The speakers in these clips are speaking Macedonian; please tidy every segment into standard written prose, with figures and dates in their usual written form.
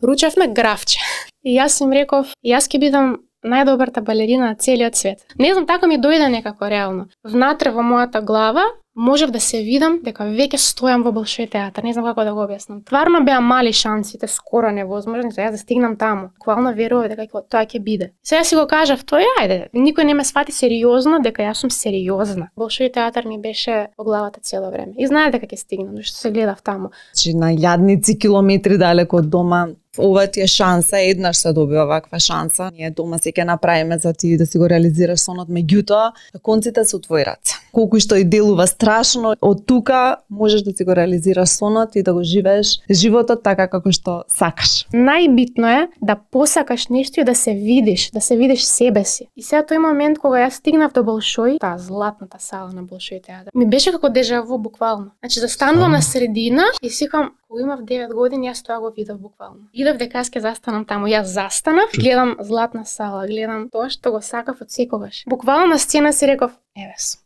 ручевме графче. И јас им реков, јас ќе бидам најдобрата балерина на целиот свет. Не знам, така ми дојде некако реално. Внатре во мојата глава можев да се видам дека веќе стојам во Болшој театар, не знам како да го објаснам. Тварно беа мали шансите, скоро невозможни, за јас да стигнам таму. Буквално верував дека тоа ќе биде. Сега си го кажав, тоа ајде, никој не ме свати сериозно дека јас сум сериозна. Болшој театар ми беше во главата цело време. И знае дека ќе стигнам, зашто се гледав таму. Значи на илјадници километри далеко од дома. Ова ти е шанса, еднаш се добива ваква шанса. Ние дома се ќе направиме за ти да си го реализираш сонот, меѓутоа конците се у твои раце. Колку што и делува страшно, од тука можеш да си го реализираш сонот и да го живееш животот така како што сакаш. Најбитно е да посакаш нешто и да се видиш себе си. И сега тој момент кога јас стигнав до Болшој, таа златната сала на Болшој театар, ми беше како дежаву буквално. Значи застанувам на средина и сикам, кога имав 9 години, јас тоа го видов буквално. Идов дека јас ќе застанам таму, јас застанав, гледам златна сала, гледам тоа што го сакав од секогаш. Буквално на сцена си реков, еве сум.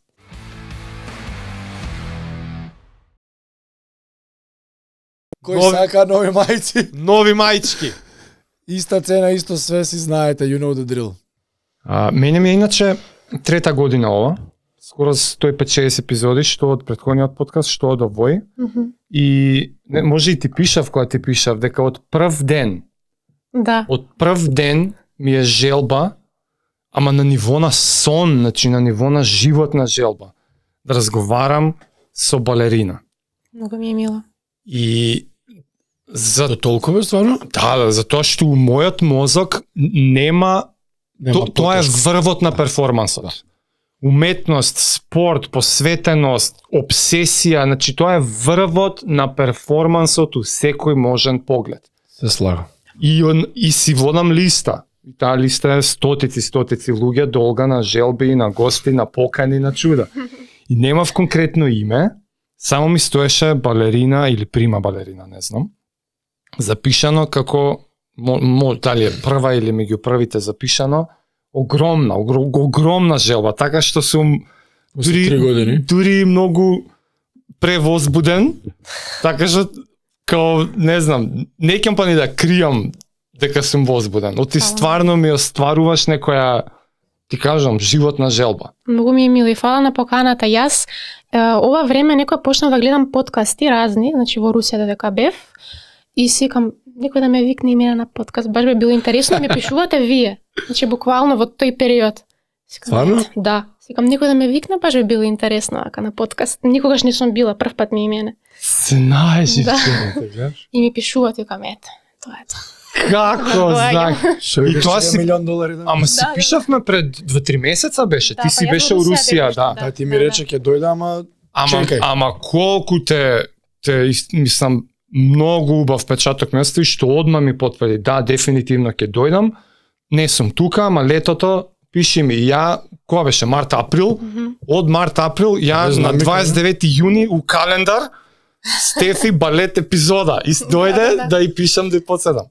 Кој сака нови мајци? Нови мајчки. Иста цена, исто све, си знаете, you know the drill. Мене ми е иначе трета година ова. Скоро 150 епизоди, што од претходниот подкаст, што од овој. И може и ти пишав кога ти пишав дека од прв ден. Да. Од прв ден ми е желба, ама на ниво на сон, значи на ниво на животна желба, да разговарам со балерина. Многу ми е мило. И за толкова стварно? Да, затоа што у мојот мозок нема тоа е врвот на перформансот. Уметност, спорт, посветеност, обсесија, значи тоа е врвот на перформансот у секој можен поглед. Се слагам. И си водам листа. И таа листа е стотици луѓе, долга на желби, на гости, на покани, на чуда. И немав конкретно име, само ми стоеше балерина или прима балерина, не знам. Запишано како, дали е прва или меѓу првите запишано, огромна желба, така што сум дури многу превозбуден, така што као, не знам, не ќе па ни да кријам дека сум возбуден. Оти стварно ми остваруваш некоја, ти кажам, животна желба. Многу ми е мило и фала на поканата. Јас ова време некоја почнав да гледам подкасти разни, значи во Русија додека бев, и сикам, некој да ме викне и мене на подкаст, баш би било интересно, ми пишувате вие. Значи буквално во тој период. Стварно? Да. Сикам, некој да ме викне, баш би било интересно ака на подкаст. Никогаш не сум била, прв пат ми и мене. Знаеш, да. И ми пишуват, викам, ете, тоа е тоа. Како, знак. И тоа си $1,000,000. Ама си пишавме пред 2-3 месеца беше. Ти си беше у Русија, да. Да, ти ми рече ќе дојде, ама чекај. Ама колку те мислам многу убав печаток ми остави, што одма ми потврди. Да, дефинитивно ќе дојдам. Не сум тука, ама летото пиши ми. Ја, кога беше? Март-април. Од март-април, ја на 29 јуни у календар Стефи балет епизода. И дојде да и пишам да и подседам.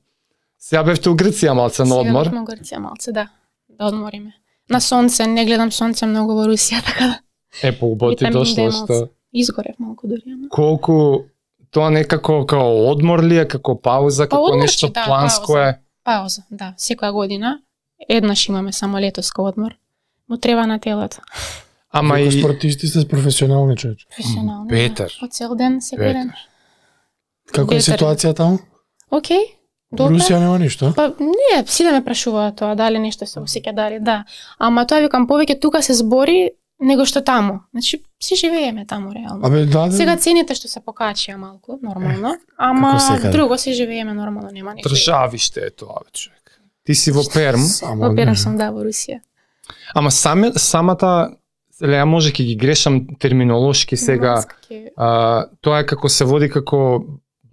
Сега бевте у Грција малце на одмор. Сега бевме у Грција малце, да. Да одмориме. На сонце, не гледам сонце многу во Русија, така да. По-убаво ти дошло што... Изгорев малку дури, ама. Колку тоа некако као одмор ли е, како пауза, како одмор, нешто да, планско е? Пауза, да. Секоја година. Еднаш имаме само летоска одмор. Му треба на телото. Ама и спортисти се професионални човече. Професионални. Петер. По цел ден, секој ден. Како е ситуација таму? Океј. Во Русија нема ништо? Па не, си да ме прашуваат тоа, дали нешто се осеќа, дали да. Ама тоа викам повеќе тука се збори него што таму. Значи си живееме таму реално. Абе да. Сега цените што се покачија малку, нормално, ама друго си живееме нормално, нема ништо. Државиште е тоа, човек. Ти си во Перм. Во Перм сум, да, во Русија. Ама самата ја може ќе ги грешам терминолошки сега. Тоа е како се води како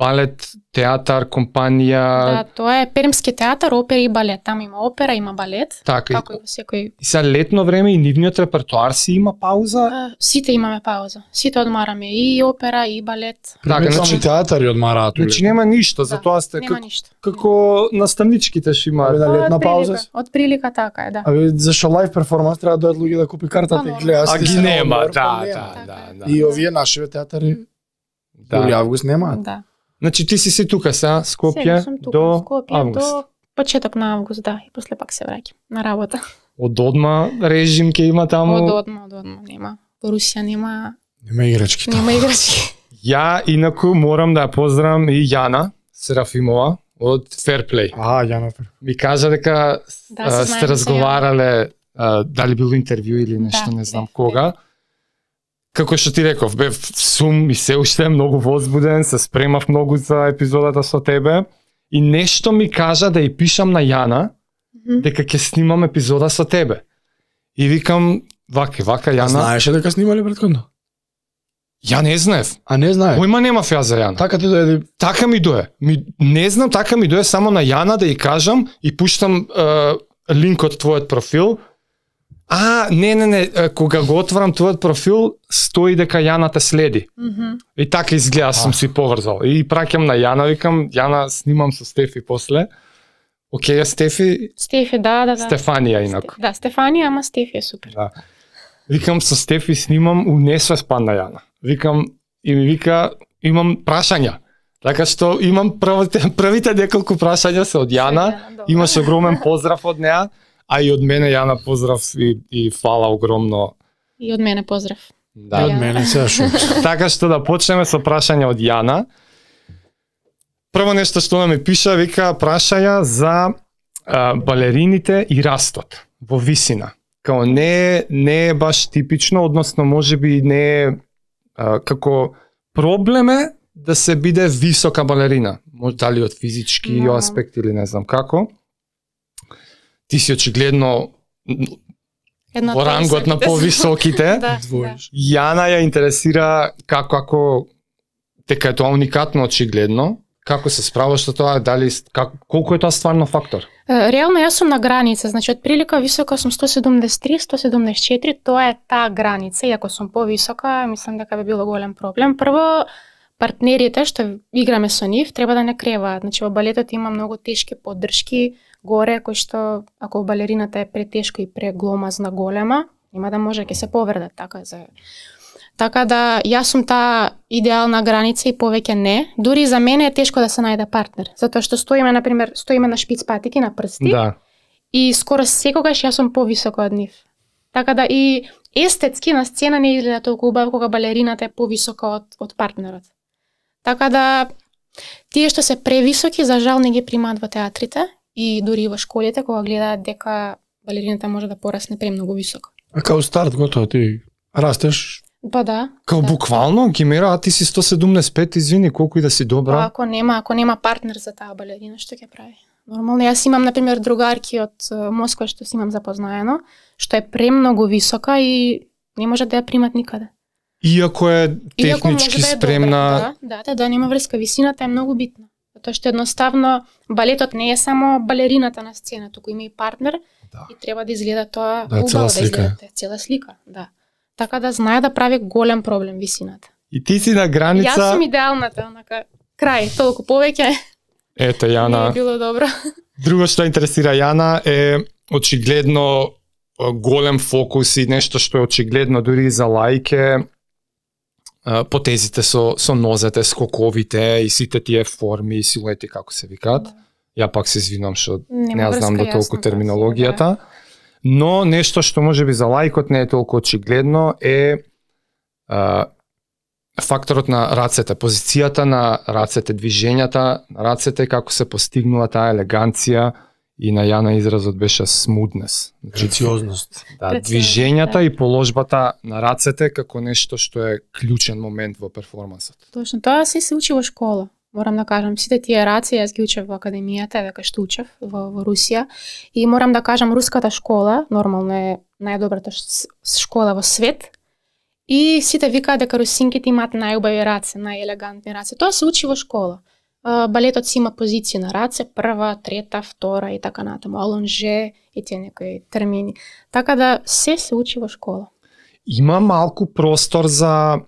балет, театар, компанија. Да, тоа е Пермски театар, опера и балет. Таму има опера, има балет. Така, како и во секој. И сега летно време и нивниот репертоар си има пауза? Сите имаме пауза. Сите одмараме и опера и балет. Така, значи театари одмараат. Значи нема ништо, затоа сте како наставничките што имаат летна пауза. Од прилика така е, да. Абе зашо лајв перформанс треба да дојдат луѓе да купи картата и гледаат. А ги нема, да. И овие нашиве театари јули август немаат. Да. Значи ти си тука сега, Скопје до август. До почеток на август, да, и после пак се враќам на работа. Од одма режим ќе има таму? Од одма нема. Во Русија нема играчки. Нема играчки. Ја инаку морам да ја поздравам и Јана Серафимова од Fairplay. Јана. Ми кажа дека сте разговарале дали било интервју или нешто, не знам кога. Како што ти реков, бев сум и се уште многу возбуден, се спремав многу за епизодата со тебе и нешто ми кажа да ја пишам на Јана дека ќе снимам епизода со тебе. И викам, вака Јана. Знаеше дека снимале претходно? Ја не знаев. А не знае? Појма немав ја за Јана. Така ти дојде? Така ми дое. Не знам, така ми дое само на Јана да ја кажам и пуштам линк од твојот профил. Не, кога го отварам твојот профил, стои дека Јана те следи. И така изгледа, сум си поврзал. И праќам на Јана, викам, Јана, снимам со Стефи после. Океј, Стефи? Стефи, да. Стефанија инаку. Да, Стефанија, ама Стефи е супер. Да. Викам, со Стефи снимам, унесува спан на Јана. Викам, и ми вика, имам прашања. Така што имам првите неколку прашања се од Јана, имаш огромен поздрав од неа, а и од мене Јана поздрав и фала огромно. И од мене поздрав. Да. И од мене се шо. Така што да почнеме со прашања од Јана. Прво нешто што ми пиша, вика, прашаја за балерините и растот во висина. Као не е баш типично, односно можеби не е како проблем е да се биде висока балерина. Може дали од физички аспект или не знам како. Ти си очигледно во рангот на повисоките. Јана ја интересира како дека е тоа уникатно очигледно. Како се справаш со тоа, дали колку е тоа стварно фактор? Реално јас сум на граница, значи отприлика висока сум 173, 174, тоа е таа граница, и ако сум повисока, мислам дека би било голем проблем. Прво, партнерите што играме со нив треба да не креваат. Значи во балетот има многу тешки поддршки горе, кои што ако балерината е претешко и прегломазна голема, нема да може, ќе се повредат Така да јас сум таа идеална граница и повеќе не. Дури за мене е тешко да се најде партнер, затоа што стоиме на шпиц патики, на прсти. Да. И скоро секогаш јас сум повисока од нив. Така да и естетски на сцена не изгледа толку убаво кога балерината е повисока од партнерот. Така да тие што се превисоки за жал не ги примаат во театрите и дури во школите кога гледаат дека балерината може да порасне премногу високо. А као старт готово ти растеш? Па да. Као буквално ги мера, а ти си 175, извини, колку и да си добра. Ако нема партнер за таа балерина, што ќе прави? Нормално, јас имам например другарки од Москва што си имам запознаено, што е премногу висока и не може да ја примат никаде. Иако е технички спремна. Да, нема врска, висината е многу битна. Затоа што едноставно балетот не е само балерината на сцена, туку има и партнер и треба да изгледа тоа убаво, да изгледа цела слика, да. Така да знае да прави голем проблем висината. И ти си на граница. Јас сум идеалната, онака крај, толку повеќе. Ето Јана. Не е било добро. Друго што интересира Јана е очигледно голем фокус и нешто што е очигледно дури за лајке, потезите со нозете, скоковите и сите тие форми и силуети како се викаат. Ја пак се извинувам што не знам до толку терминологијата. Но нешто што можеби за лајкот не е толку очигледно е факторот на рацете, позицијата на рацете, движењата на рацете, како се постигнува таа елеганција и на Јана изразот беше смуднес. Прециозност. Да, движењата и положбата на рацете како нешто што е клучен момент во перформансот. Точно, тоа се учи во школа. Морам да кажам, сите тие раци јас ги учев во академијата, дека што учев во Русија. И морам да кажам, руската школа, нормално е најдобрата школа во свет. И сите викаат дека русинките имаат најубави раце, најелегантни раце. Тоа се учи во школа. Балетот си има позиции на раце, прва, трета, втора и така натаму, алонже и тие некои термини. Така да се учи во школа. Има малку простор за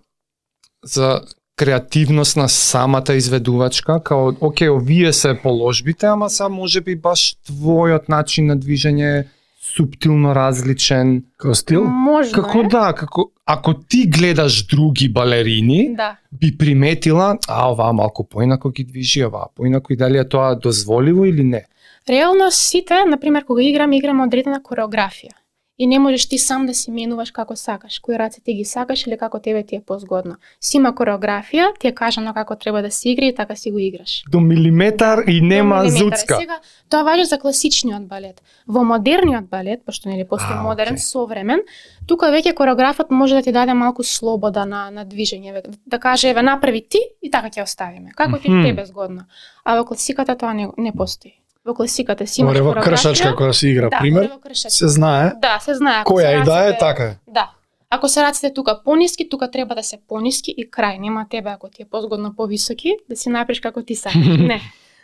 креативност на самата изведувачка, као, окей, овие се положбите, ама са можеби баш твојот начин на движење суптилно различен. Како стил? Можно Како е. да, како ако ти гледаш други балерини, Да. би приметила, оваа малку поинако ги движи, оваа поинако, и дали е тоа дозволиво или не? Реално сите, например, кога играме одредена кореографија. И не можеш ти сам да си менуваш како сакаш, кои раце ти ги сакаш или како тебе ти е позгодно. Си има кореографија, ти е кажано како треба да се игра и така си го играш. До милиметар и нема До милиметар. зуцка. Сега, тоа важи за класичниот балет. Во модерниот балет, пошто нели постои модерен, окей. современ, тука веќе кореографот може да ти даде малку слобода на движење, да каже еве направи ти и така ќе оставиме. Како ти тебе згодно. А во класиката тоа не постои. Во класиката си имаш Орева кореографија. кршачка која се игра, Да, пример, орева кршачка. се знае. Да, се знае. Ако Која се и да е, рацете- така е. Да. Ако се рацете тука пониски, тука треба да се пониски и крај. Нема тебе ако ти е позгодно повисоки, да си направиш како ти сакаш. Не.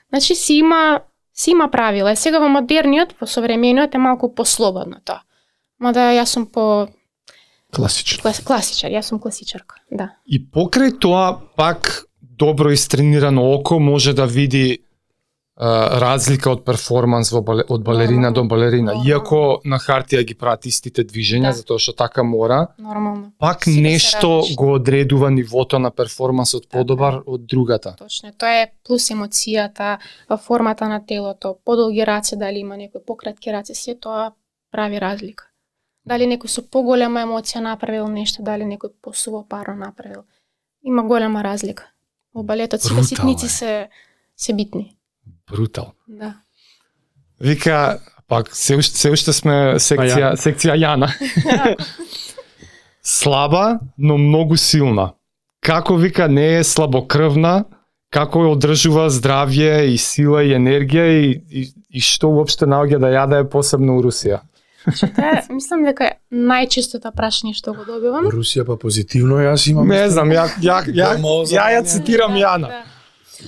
Значи си има правила. Сега во модерниот, во современиот е малку послободно тоа. Мада јас сум Класично. класичар, јас сум класичарка. Да. И покрај тоа, пак добро истренирано око може да види разлика од перформанс од балерина до балерина. Нормално. Иако на хартија ги прават истите движења, Да. затоа што така мора, Нормално. пак Сите се нешто различни. го одредува нивото на перформансот подобар од другата. Точно. Тоа е плюс емоцијата, формата на телото, подолги раце, дали има некои пократки раце, се тоа прави разлика. Дали некој со поголема емоција направил нешто, дали некој посувопарно направил. Има голема разлика. Во балетот сите Брутално ситници е. се битни. Брутал. Да. Вика, пак се уште сме секција Јана. Слаба, но многу силна. Како вика не е слабокрвна, како ја одржува здравје и сила и енергија и што уопште наоѓа да јаде посебно у Русија. Тоа мислам дека е најчестото прашање што го добивам. Русија па позитивно, јас имам. Не знам, ја цитирам Јана. Да.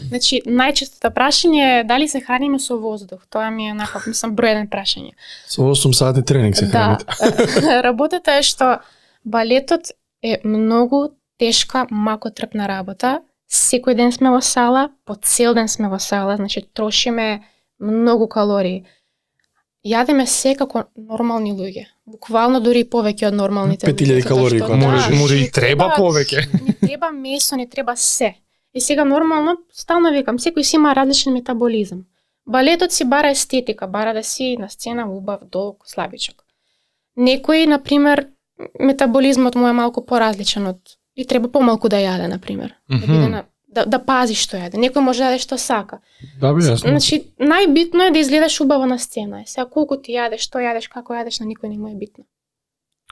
Значи, најчестото прашање е дали се храниме со воздух. Тоа ми е накако, мислам, број еден прашање. Со 8 сати тренинг се Да. храните. Работата е што балетот е многу тешка, макотрпна работа. Секој ден сме во сала, по цел ден сме во сала, значи трошиме многу калории. Јадеме се како нормални луѓе. Буквално дури и повеќе од нормалните 5000 затоа калории што- кога Може не и треба повеќе. Не треба месо, не треба се. И сега нормално, стално викам, секој си има различен метаболизам. Балетот си бара естетика, бара да си на сцена убав, долг, слабичок. Некој, например, метаболизмот му е малку поразличен од и треба помалку да јаде, например. Да биде на да пази што јаде. Некој може да јаде што сака. Да, бе, јасно. Значи, најбитно е да изгледаш убаво на сцена. Сега колку ти јадеш, што јадеш, како јадеш, на никој не му е битно.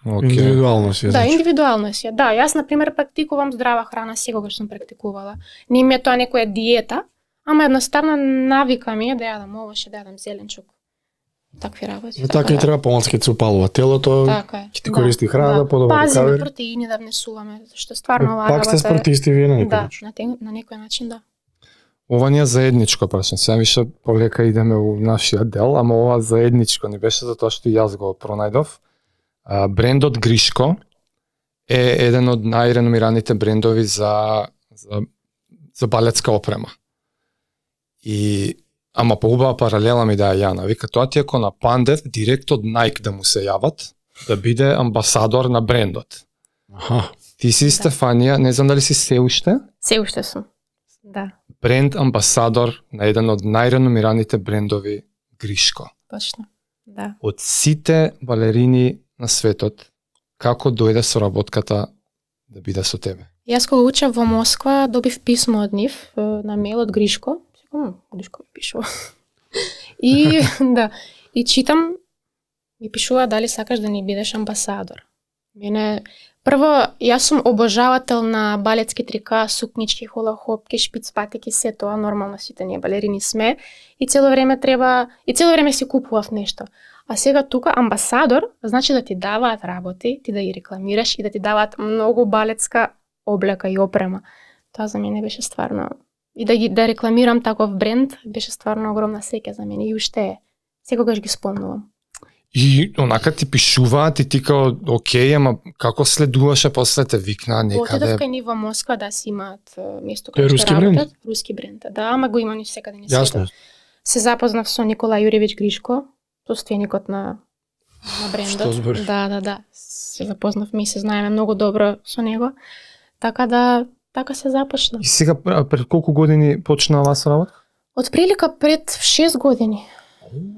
Индивидуално си е. Да, значи. индивидуално си. Да, јас на пример практикувам здрава храна, секогаш сум практикувала. Не ми е тоа некоја диета, ама едноставно навика ми е да јадам овоше, да јадам зеленчук. Такви работи. Така и да. треба помалку ќе се упалува телото. Така е. ќе ти користи храна, подобро Пазиме рекавери. протеини да внесуваме, зашто стварно оваа Пак сте работа е- спортисти вие на некој Да, начин. на некој начин да. Ова ни е заедничко прашање. Сега више полека идеме у нашиот дел, ама ова заедничко ни беше затоа што и јас го пронајдов. Брендот Гришко е еден од најреномираните брендови за балетска опрема. И ама поубава паралела ми да е Јана. Вика, тоа ти ако на Пандев директ од Nike да му се јават, да биде амбасадор на брендот. Аха. Ти си Стефанија, не знам дали си се уште, Се уште сум. Да, бренд амбасадор на еден од најреномираните брендови Гришко. точно. Да. Од сите балерини на светот, како дојде соработката да биде со тебе? Јас кога учев во Москва, добив писмо од нив на мејл од Гришко. Гришко ми пишува. И да, и читам, ми пишува дали сакаш да ни бидеш амбасадор. Мене прво јас сум обожавател на балетски трика, сукнички, холахопки, шпицпатики, се тоа нормално сите ние балерини сме и цело време си купував нешто. А сега тука амбасадор значи да ти даваат работи, ти да ги рекламираш и да ти даваат многу балетска облека и опрема. Тоа за мене беше стварно и да рекламирам таков бренд беше стварно огромна среќа за мене и уште е. Секогаш ги спомнувам. И онака ти пишуваат и ти као, окей, ама како следуваше после те викна Отидов некаде? кај нив во Москва да си имаат место Тој е кај руски што бренд? работат. Руски бренд, да, ама го има ни секаде ни Јасно. светот. Се запознав со Никола Јуревиќ Гришко, состојаникот на на брендот. Што збориш? Да. Се запознавме и се знаеме многу добро со него. Така да, така се започна. И сега пред колку години почна оваа работа? Од прилика пред 6 години.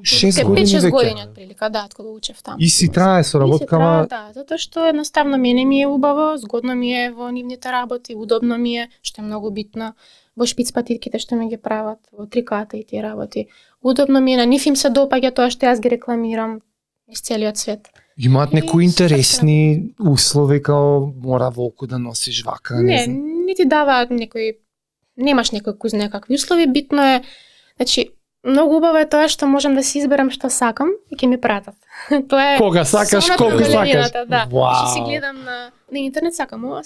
6 години 5-6 веќе. години од прилика, да, од кога учев таму. И си трае со работкава. Да, затоа што едноставно мене ми е убаво, згодно ми е во нивните работи, удобно ми е, што е многу битно. Во шпиц патитките што ми ги прават, во триката и тие работи. Удобно ми е, на нив им се допаѓа тоа што јас ги рекламирам из целиот свет. Имаат И некои интересни услови, као мора волку да носиш вака, не знам. Не ти даваат некои, немаш некои куз некакви услови, битно е, значи, многу убаво е тоа што можам да си изберам што сакам и ќе ми пратат. Тоа е Кога сакаш, сонот колку на сакаш. балерината, да. Вау. Што си гледам на интернет, сакам ова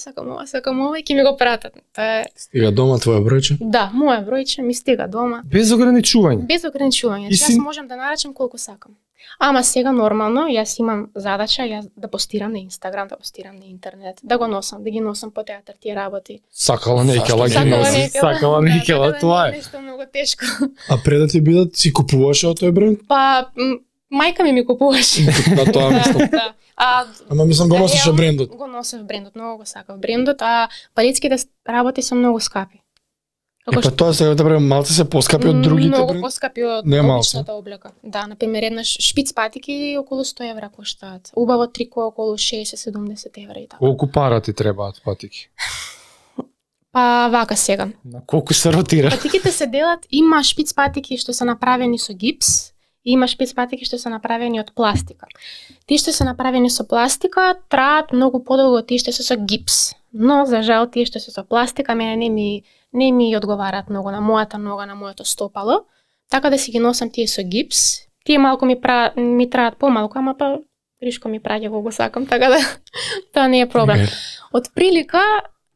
и ќе ми го пратат. Тоа е, Стига дома твоја бројче? да, моја бројче ми стига дома. Без ограничување. Без ограничување. И Јас си- можам да нарачам колку сакам. Ама сега нормално, јас имам задача јас да постирам на Инстаграм, да постирам на интернет, да го носам, да ги носам по театар тие работи. Сакала некела ги Сакала носи. некела. Сакала Да, некела, така да тоа не е. Нешто многу тешко. А пред да ти бидат, си купуваше од тој бренд? Па мајка ми купуваше. На тоа мислам. Да. Ама мислам го носеше реално брендот. Го носев брендот, многу го сакав брендот, а палетските работи се многу скапи. Па тоа сега да брем малце се поскапи од другите многу бренди. поскапи од Не малку. обичната облека. Да, на пример еднаш шпиц патики околу 100 евра коштаат. Убаво трико околу 60-70 евра и така. Колку пара ти требаат патики? Па вака сега. На колку се ротира? Патиките се делат, има шпиц патики што се направени со гипс, и има шпиц патики што се направени од пластика. Тие што се направени со пластика траат многу подолго од тие што се со гипс. Но за жал тие што се со пластика мене не ми одговараат многу на мојата нога, на моето стопало. Така да си ги носам тие со гипс. Тие малку ми траат помалку, ама па ришко ми праќа кога го сакам, така да тоа не е проблем. Од прилика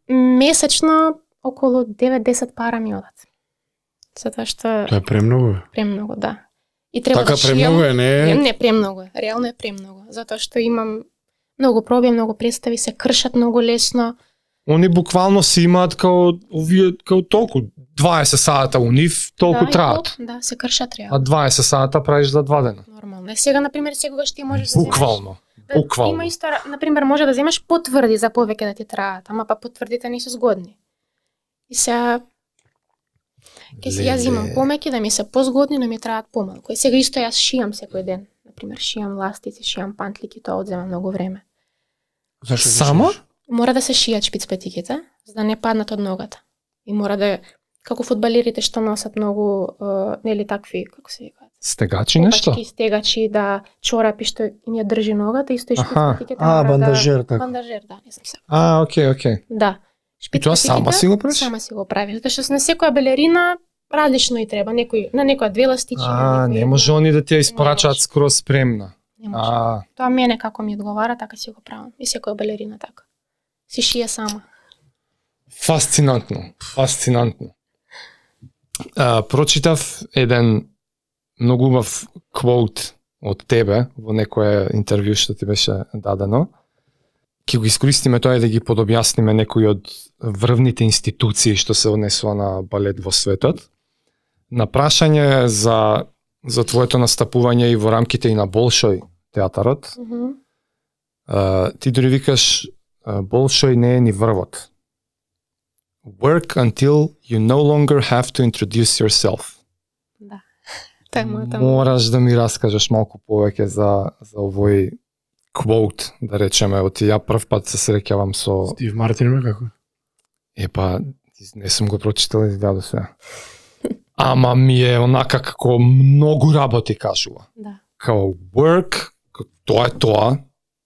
месечно околу 9-10 пара ми одат. Затоа што Тоа е премногу. премногу, да. И треба Така да шијам. премногу е, не е? Не, премногу е. Реално е премногу. Затоа што имам многу проби, многу представи, се кршат многу лесно. Они буквално си имаат као овие као толку 20 сата у нив, толку да, траат. Да, се кршат А реално. 20 сата правиш за 2 дена. Нормално. Сега на пример секогаш ти можеш да Буквално. земеш. Буквално. Има исто, на пример може да земеш потврди за повеќе да ти траат, ама па потврдите не се згодни. И сега ќе си јас имам помеки да ми се позгодни, но ми траат помалку. И сега исто јас шијам секој ден. На пример шијам ластици, шијам пантлики, тоа одзема многу време. Зашто ги Само? шиеш? Мора да се шијат шпицпатиките, за да не паднат од ногата. И мора да, како фудбалерите што носат многу, нели такви, како се викаат? Стегачи нешто? Опачки, стегачи, да, чорапи што им ја држи ногата, исто и Аха. шпицпатиките А, мора бандажер, да... така. Бандажер, да, не знам се. Окей. Да. И тоа сама си го правиш? Сама си го правиш, затоа што на секоја балерина различно и треба, на некоја 2 ластичи, на некоја Не една. може они да ти ја испорачаат може. скроз спремна. Не може. Тоа мене како ми одговара, така си го правам. И секоја балерина така. Си шие сама. Фасцинантно. Прочитав еден многу убав квоут од тебе во некое интервју што ти беше дадено. Ќе го искористиме тоа и да ги подобјасниме некои од врвните институции што се однесува на балет во светот. На прашање за твоето настапување и во рамките и на Болшој театарот, ти дори викаш Болшој не е ни врвот. Work until you no longer have to introduce yourself. Да. Тоа е мојата. Мораш да ми раскажеш малку повеќе за овој квоут, да речеме, од ја прв пат се среќавам со... Стив Мартин ме како? Епа, не сум го прочитал и да сега. Ама ми е онака како многу работи кажува. Да. Као work, тоа е тоа,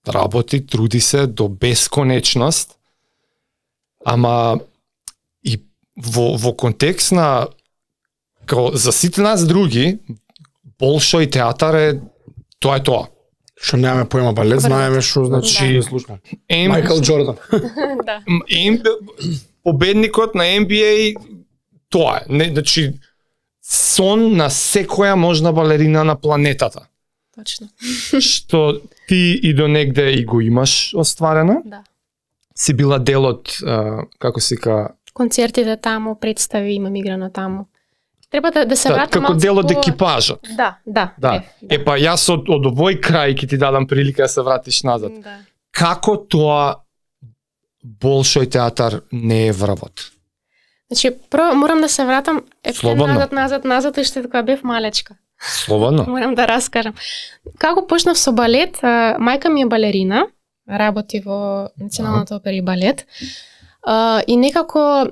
работи, труди се до бесконечност, ама и во контекст на као за сите нас други, Болшој театар е тоа. Што немаме поема балет, знаеме што значи слушна. Майкл Џордан. Да. Победникот на NBA тоа е. Не, значи сон на секоја можна балерина на планетата. Точно. Што ти и до негде и го имаш остварено. Да. Си била дел од, како се ка... Концертите таму, представи имам играно таму. треба да се вратам како дел од екипажот. Да. Епа јас од овој крај ќе ти дадам прилика да се вратиш назад. Да. Како тоа Болшој театар не е врвот? Значи, прво морам да се вратам Слободно. назад уште кога бев малечка. Слободно. Морам да раскажам. Како почнав со балет, мајка ми е балерина, работи во Националната опера и балет. И некако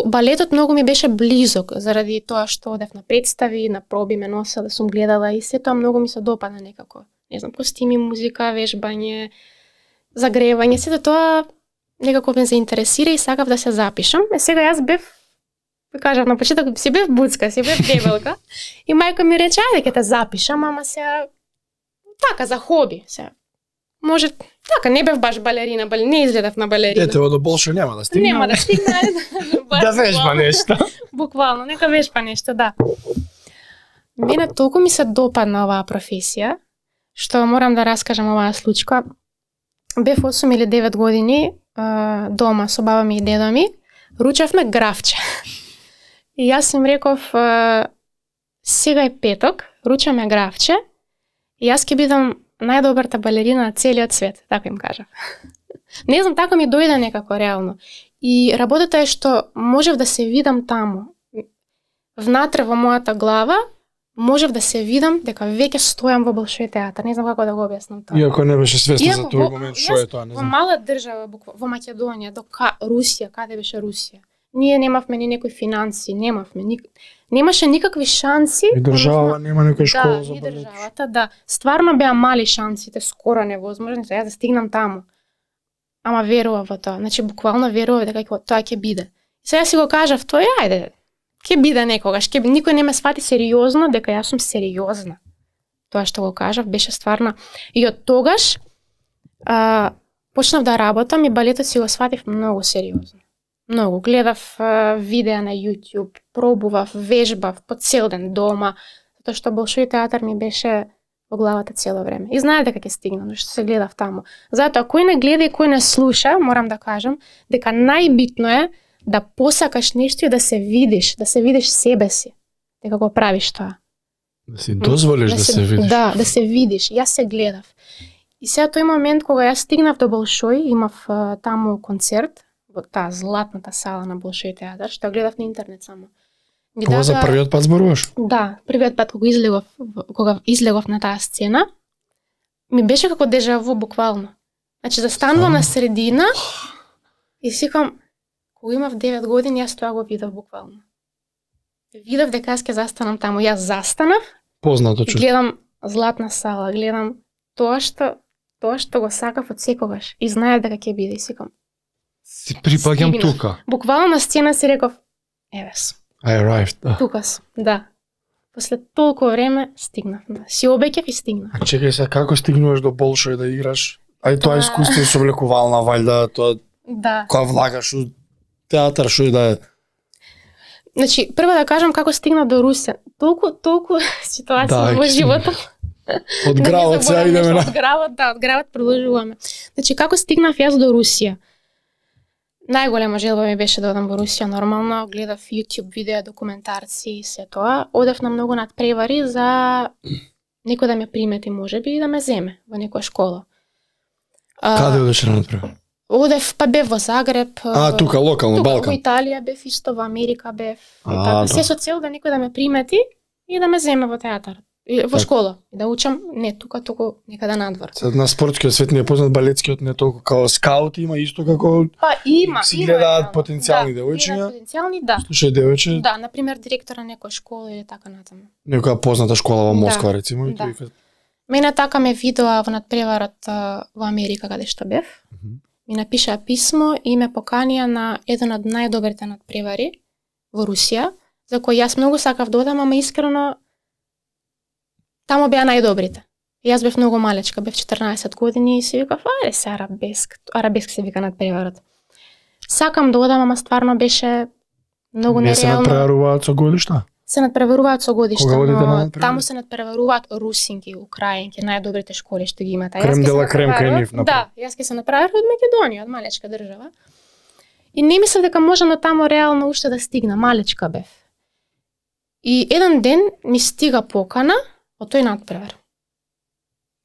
балетот многу ми беше близок заради тоа што одев на представи, на проби ме носела, да сум гледала и се тоа многу ми се допадна некако. Не знам, костими, музика, вежбање, загревање, сето тоа некако ме заинтересира и сакав да се запишам. Сега јас бев, кажав на почеток, си бев буцка, си бев дебелка и мајка ми рече, ајде ќе те запишам, ама сега така за хоби, сега. Може, така, не бев баш балерина, не изгледав на балерина. Ете, до Болшој нема да стигне. Нема да стигне. Да вежба нешто. Буквално, нека вежба нешто, да. Мене толку ми се допадна оваа професија, што морам да раскажам оваа случка. Бев 8 или 9 години дома со баба ми и дедо ми, ручевме графче. И јас им реков, сега е петок, ручаме графче, и јас ќе бидам најдобрата балерина на целиот свет, така им кажав. Не знам, така ми дојде некако реално. И работата е што можев да се видам таму. Внатре во мојата глава можев да се видам дека веќе стојам во Болшој театар. Не знам како да го објаснам тоа. Иако не беше свесна за тој момент што е тоа, не знам. Во знам. мала држава, во Македонија, до Русија, каде беше Русија? Ние немавме ни некои финанси, немаше никакви шанси. И држава нема некоја школа за балет. балет. И државата, да. Стварно беа мали шансите, скоро невозможни за јас да стигнам таму. Ама верував во тоа. Значи буквално верував дека тоа ќе биде. Сега си го кажав, тоа ајде, ќе биде некогаш, никој не ме свати сериозно дека јас сум сериозна. Тоа што го кажав беше стварно. И од тогаш почнав да работам и балетот си го сватив многу сериозно. Многу. Гледав видеа на YouTube, пробував, вежбав по цел ден дома, затоа што Болшој театар ми беше во главата цело време. И знаев дека ќе стигнам, што се гледав таму. Затоа, кој не гледа и кој не слуша, морам да кажам, дека најбитно е да посакаш нешто и да се видиш себе си, дека го правиш тоа. Да си дозволиш да се видиш. Да, да се видиш. Јас се гледав. И сега тој момент кога јас стигнав до Болшој, имав таму концерт во таа златната сала на Болшој театар, што гледав на интернет само. Ова за првиот пат зборуваш? Да, првиот пат кога излегов на таа сцена, ми беше како дежаву буквално. Значи застанувам на средина и сикам, кога имав 9 години, јас тоа го видов буквално. Видов дека јас ќе застанам таму, јас застанав. Познато чувство. Гледам златна сала, гледам тоа што го сакав од секогаш и знаев дека ќе биде и сикам. Си припаѓам тука. Буквално на сцена си реков, еве сум. I arrived, да. Тука сум, да. После толку време стигнав. Си обеќав и стигнав. А чекај се, како стигнуваш до Болшој да играш? Ај тоа искуство со влекувална вајда, тоа да. Кога влагаш у театар, што да е? Значи, прво да кажам како стигнав до Русија. Толку ситуации во животот. Од гравот сега идеме на... Од гравот продолжуваме. Значи, како стигнав јас до Русија? Најголема желба ми беше да одам во Русија, нормално, гледав YouTube видеа, документарци и се тоа. Одев на многу надпревари за некој да ме примети, можеби, и да ме земе во некоја школа. Каде одеше на надпревар? Одев, па бев во Загреб. Тука, локално, тука, Балкан. Во Италија бев исто, во Америка бев. Така. Се со цел да некој да ме примети и да ме земе во театар. Во школа. И да учам не тука, туку некаде надвор. На спортскиот свет не е познат балетскиот, не толку како скаут има исто како... Па има. Си гледаат потенцијални девојчиња. Потенцијални, да. Слушај девојче. Да, например, директора на некоја школа или така натаму. Некоја позната школа во Москва, рецимо. Да. Мене така ме видоа во надпреварот во Америка, каде што бев. Ми напишаа писмо и ме поканија на еден од најдобрите надпревари во Русија, за кој јас многу сакав да одам, ама искрено таму беа најдобрите. Јас бев многу малечка, бев 14 години и си викав, ајде се арабеск се вика надпреварот. Сакам да одам, ама стварно беше многу нереално. Не се надпреваруваат со годишта? Се надпреваруваат со годишта, но таму се надпреваруваат русинки, украинки, најдобрите школи што ги имаат. Крем дела крем кај нив. Да, јас ќе се направив од Македонија, од малечка држава. И не мислев дека можам до таму реално уште да стигна, малечка бев. И еден ден ми стига покана од тој надпревар.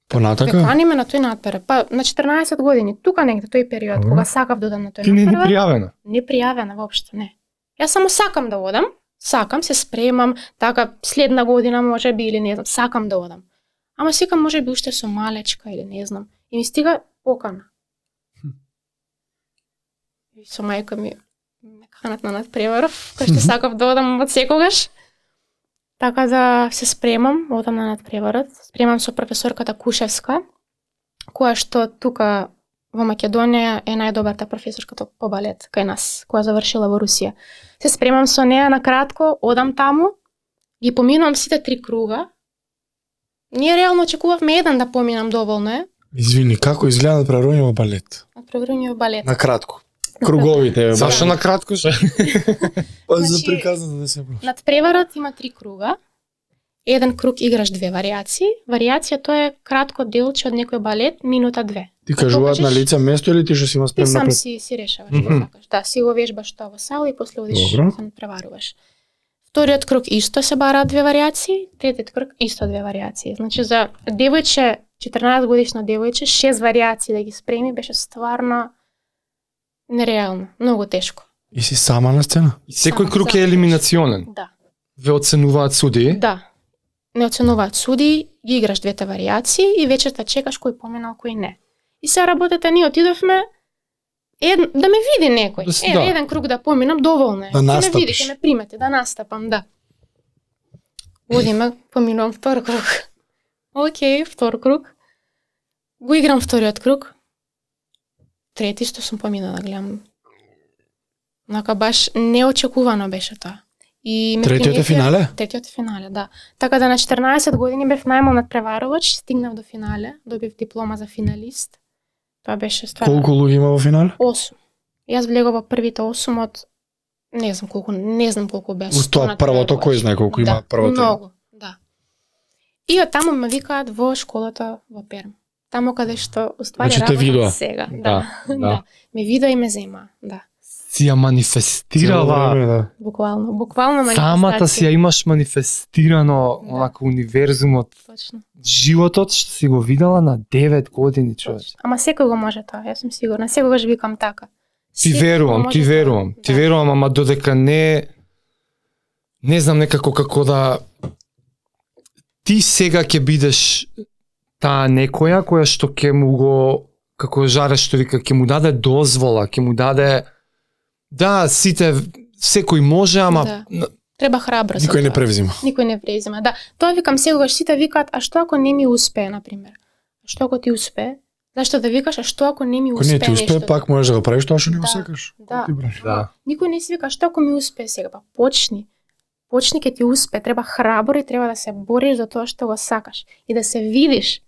Понатака? Поканиме на тој надпревар. Па на 14 години, тука негде тој период, кога сакав да одам на тој Ти не надпревар. пријавена. Не пријавена воопшто, не. Јас само сакам да одам, сакам, се спремам, така следна година може би или не знам, сакам да одам. Ама секам може би уште со малечка или не знам. И ми стига покана. И со мајка ми ме канат на надпреваров, кој што сакав да одам од секогаш. Така да се спремам, одам на надпреварот. Спремам со професорката Кушевска, која што тука во Македонија е најдобарта професорката по балет кај нас, која завршила во Русија. Се спремам со неа на кратко, одам таму, ги поминувам сите 3 круга. Ние реално очекувавме еден да поминам, доволно е. Извини, како изгледа надпреварување во балет? Надпреварување во балет. На кратко. Круговите. Зашто на кратко се? Па за Значи, приказната да се Надпреварот има 3 круга. Еден круг играш 2 варијации. Варијација тоа е кратко делче од некој балет, минута 2. Ти кажуваат на покажеш- лице место или ти што си има Ти спремна сам пред? си решаваш што сакаш. Да, си го вежбаш тоа во сала и после одиш Добро. се надпреваруваш. Вториот круг исто се бараат 2 варијации, третиот круг исто 2 варијации. Значи за девојче, 14 годишно девојче, 6 варијации да ги спреми беше стварно нереално, многу тешко. И си сама на сцена? И секој Само круг е за- елиминационен. Да. Ве оценуваат судии. Да. Не оценуваат суди, ги играш 2 варијации и вечерта чекаш кој поминал, кој не. И се работата ние отидовме да ме види некој. Да. Еден круг да поминам, доволно е. Да Ќе ме настапиш. види, ќе ме примете, да настапам, да. Одиме, поминувам втор круг. Океј, втор круг. Го играм вториот круг. Трети што сум поминала, гледам. Нака баш неочекувано беше тоа. И ме Третиот е приметија- финале? Третиот е финале, да. Така да на 14 години бев најмал надпреварувач, стигнав до финале, добив диплома за финалист. Тоа беше стварно. Колку луѓе има во финале? 8. Јас влегов во првите 8 од не знам колку беше. Ус тоа првото, кој знае колку има да, првото? Многу, да. И од таму ме викаат во школата во Перм. Таму каде што уствари Значи те видоа? сега. Да, Да. да. да. Ме видоа и ме зема, да. Си ја манифестирала. Да. Буквално Самата си ја имаш манифестирано, Да. онака универзумот, Точно. животот што си го видела на 9 години, човече. Ама секој го може тоа, јас сум сигурна. Секогаш викам така. Ти Секој верувам, може ти тоа. верувам, ти Да. верувам, ама додека не знам некако како да ти сега ќе бидеш таа некоја која што ќе му го, како Жаре што вика, ќе му даде дозвола, ќе му даде да, сите, секој може, ама Да. Треба храбро за Никој не тоа. превзима. Никој не презима. Да, тоа викам секогаш, сите викаат, а што ако не ми успее, на пример? А што ако ти успее? Зашто да викаш, а што ако не ми Ако успее не ти успее, нешто? пак можеш да го правиш тоа што не го Да, сакаш. да. Ти брани. да. Никој не си вика, што ако ми успее сега? Па почни. Почни ке ти успее, треба храбро и треба да се бориш за тоа што го сакаш и да се видиш.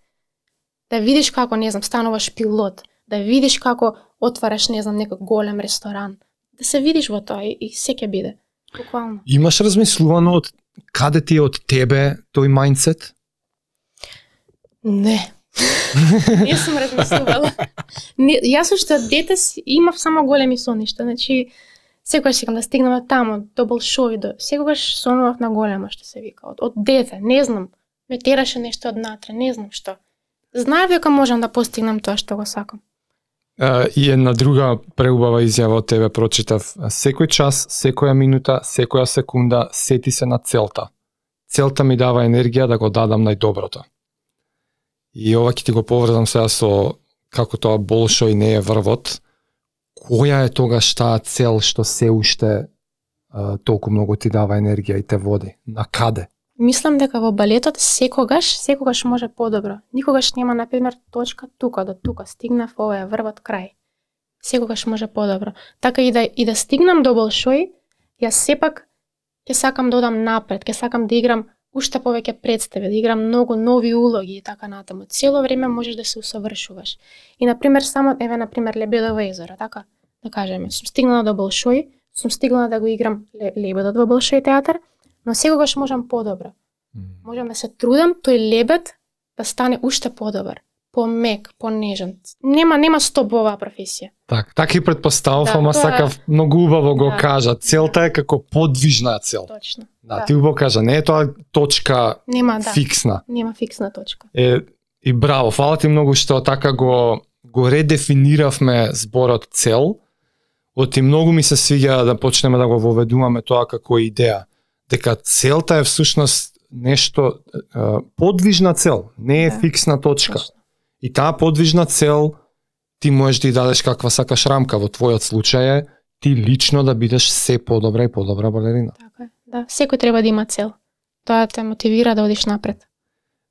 Да видиш како, не знам, стануваш пилот, да видиш како отвараш, не знам, некој голем ресторан. Да се видиш во тоа и се ќе биде. Буквално. Имаш размислувано од каде ти е од тебе тој мајндсет? Не. Не сум размислувала. Не, јас уште од дете имав само големи соништа, значи секогаш сакам да стигнам до таму, до Болшови, секогаш сонував на големо, што се вика, од дете, не знам, ме тераше нешто однатре, не знам што. Знаев дека можам да постигнам тоа што го сакам. И една друга преубава изјава од тебе прочитав. Секој час, секоја минута, секоја секунда, сети се на целта. Целта ми дава енергија да го дадам најдоброто. И ова ќе ти го поврзам сега со како тоа Болшој не е врвот. Која е тогаш таа цел што се уште толку многу ти дава енергија и те води? На каде? Мислам дека во балетот секогаш може подобро. Никогаш нема, например, точка тука до тука, стигнав, ова е врвот крај. Секогаш може подобро. Така и да стигнам до Болшој, јас сепак ќе сакам да одам напред, ќе сакам да играм уште повеќе представи, да играм многу нови улоги и така натаму. Цело време можеш да се усовршуваш. И например само например Лебедово езеро, така да кажеме, сум стигнала до Болшој, сум стигнала да го играм Лебедот во Болшој театар, но секогаш можам подобро. Можам да се трудам тој лебед да стане уште подобар. помек, понежен. Нема стоп во оваа професија. Така и предпоставав, Да, ама тоа- сакав многу убаво го Да. кажа. Целта е како подвижна цел. Точно. Да, ти убаво кажа, не е тоа точка Нема, да. фиксна. Нема фиксна точка. И браво, фала ти многу што така го редефиниравме зборот цел. Оти многу ми се свиѓа да почнеме да го воведуваме тоа како идеја. Дека целта е всушност нешто подвижна цел, не е Да. фиксна точка. Точно. И таа подвижна цел ти можеш да ја дадеш каква сакаш рамка. Во твојот случај е ти лично да бидеш се подобра и подобра балерина. Така е. Да, секој треба да има цел. Тоа те мотивира да одиш напред.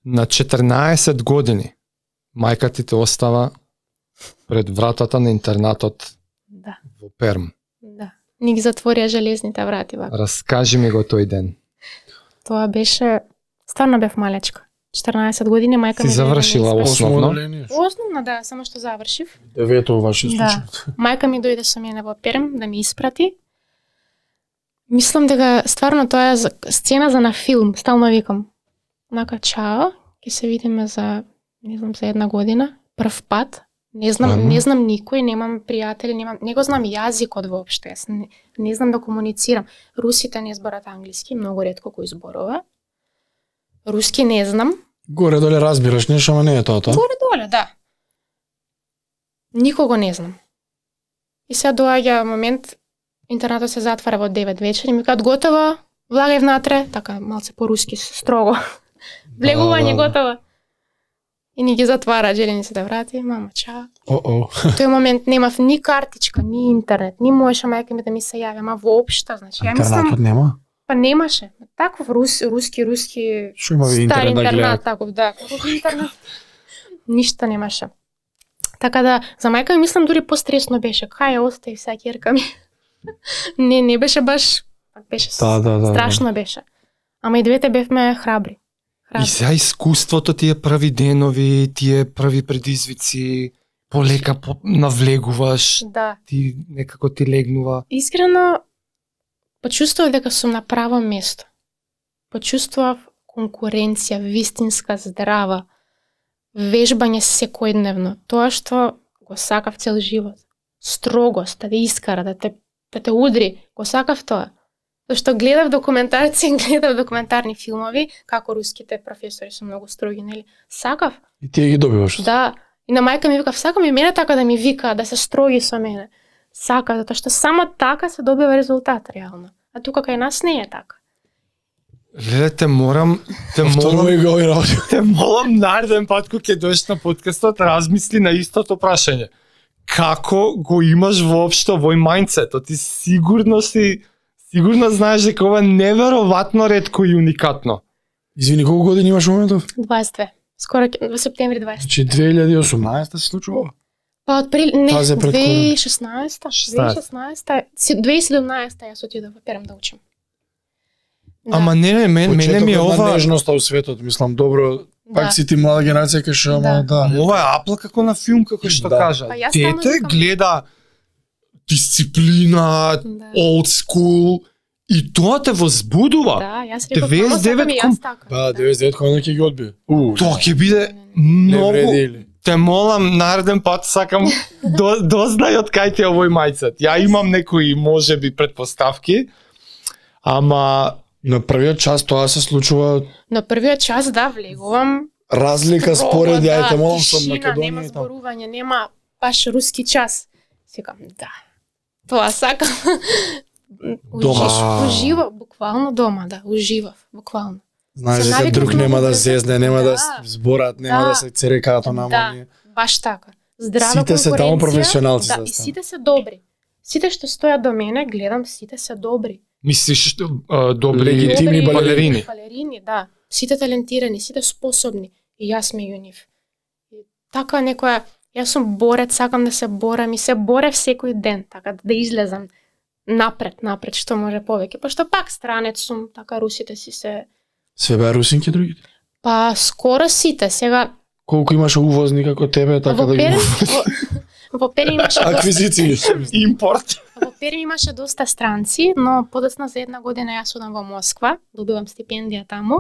На 14 години мајка ти те остава пред вратата на интернатот Да, во Перм. да. Ни ги затворија железните врати вака. Раскажи ми го тој ден. Тоа беше, стварно бев малечка. 14 години мајка Си ми дојде да ме завршила испрати. Основно? оделение. Основно, да, само што завршив. Девето ваше Да. случај. Мајка ми дојде со мене во Перм да ме испрати. Мислам дека стварно тоа е сцена за на филм, стално викам. Нака чао, ќе се видиме за не знам за една година, прв пат. Не знам никој, немам пријатели, не го знам јазикот воопшто. Јас не знам да комуницирам. Русите не зборат англиски, многу ретко кој зборува. Руски не знам. Горе доле разбираш нешто, ама не е тоа. Горе доле, да. Никого не знам. И сега доаѓа момент, интернатот се затвара во 9 вечер и ми кажат готово, влагај внатре, така малце по-руски, строго. Влегување Да. готово. И ни ги затвара, жели ни се да врати, мама, чао. О-о. В тој момент немав ни картичка, ни интернет, ни можеше мајка ми да ми се јави, ама воопшто, значи, ја Интернатот мислам, нема? па немаше. Таков руски, Што има ви стар интернет да интернат, гледат? таков, да, каков интернет. Ништо немаше. Така да, за мајка ми мислам дури постресно беше. Кај ја остави сега ќерка ми. не беше баш, беше Да. страшно беше. Ама и двете бевме храбри. И сега искуството тие први денови, тие први предизвици, полека навлегуваш, Да. ти некако ти легнува. Искрено, почувствував дека сум на право место. Почувствував конкуренција, вистинска, здрава, вежбање секојдневно. Тоа што го сакав цел живот. Строгост, да те искара, да те удри, го сакав тоа. Зашто гледав документарци, гледав документарни филмови, како руските професори се многу строги, нели? Сакав. И тие ги добиваш. Да. И на мајка ми викав, сакам и мене така да ми вика, да се строги со мене. Сака, затоа што само така се добива резултат, реално. А тука кај нас не е така. Леле, те молам нареден пат кога ќе дојдеш на подкастот, размисли на истото прашање. Како го имаш воопшто овој мајндсет? Ти сигурно знаеш дека ова е невероватно ретко и уникатно. Извини, колку години имаш во моментов? 22. Скоро во септември 20. Значи 2018 се случува? Па од не, Тази е пред корона. 2016, 2017 јас отидов во Перм да учам. Да. Ама не, мене ми е Почетокот на ова... нежноста у светот, мислам, добро. Пак Да. си ти млада генерација кај што, ама да. Ова е апла како на филм, како што Да. кажа. Па јас стално Дете викам- гледа дисциплина, Да. old school, и тоа те возбудува. Да, јас реков, 99 само сакам и јас така. Да, 99 кога ќе ги одби. Тоа ќе биде Не многу... вреди или? Те молам, нареден пат сакам дознај од кај ти е овој мајцет. Ја имам некои, можеби, предпоставки, ама На првиот час тоа се случува На првиот час, да, влегувам. разлика строго, според, да, јајте молам со тишина, нема Македонија и таму. зборување, нема баш руски час. Секам, да. Тоа сакам. Дома. Уживав, буквално дома, да, уживав, буквално. Знаеш Се дека навикнав друг нема многу да брзо. зезне, нема да Да. зборат, нема Да. да се церекаато на Да. амонија. Баш така. Здрава Сите се таму конкуренција, професионалци да, се и стану. сите се добри. Сите што стојат до мене, гледам, сите се добри. мислиш добри Легитимни балерини. Балерини, да. Сите талентирани, сите способни. И јас меѓу нив. И така некоја, јас сум борец, сакам да се борам и се борев секој ден, така да излезам напред, што може повеќе. Пошто пак странец сум, така русите си се... Све беа русинки другите. Па скоро сите, сега Колку имаше увозни како тебе, така во да ги Перм, во Перм имаше доста, аквизиции. Импорт. во Перм имаше доста странци, но подоцна за една година јас одам во Москва, добивам стипендија таму,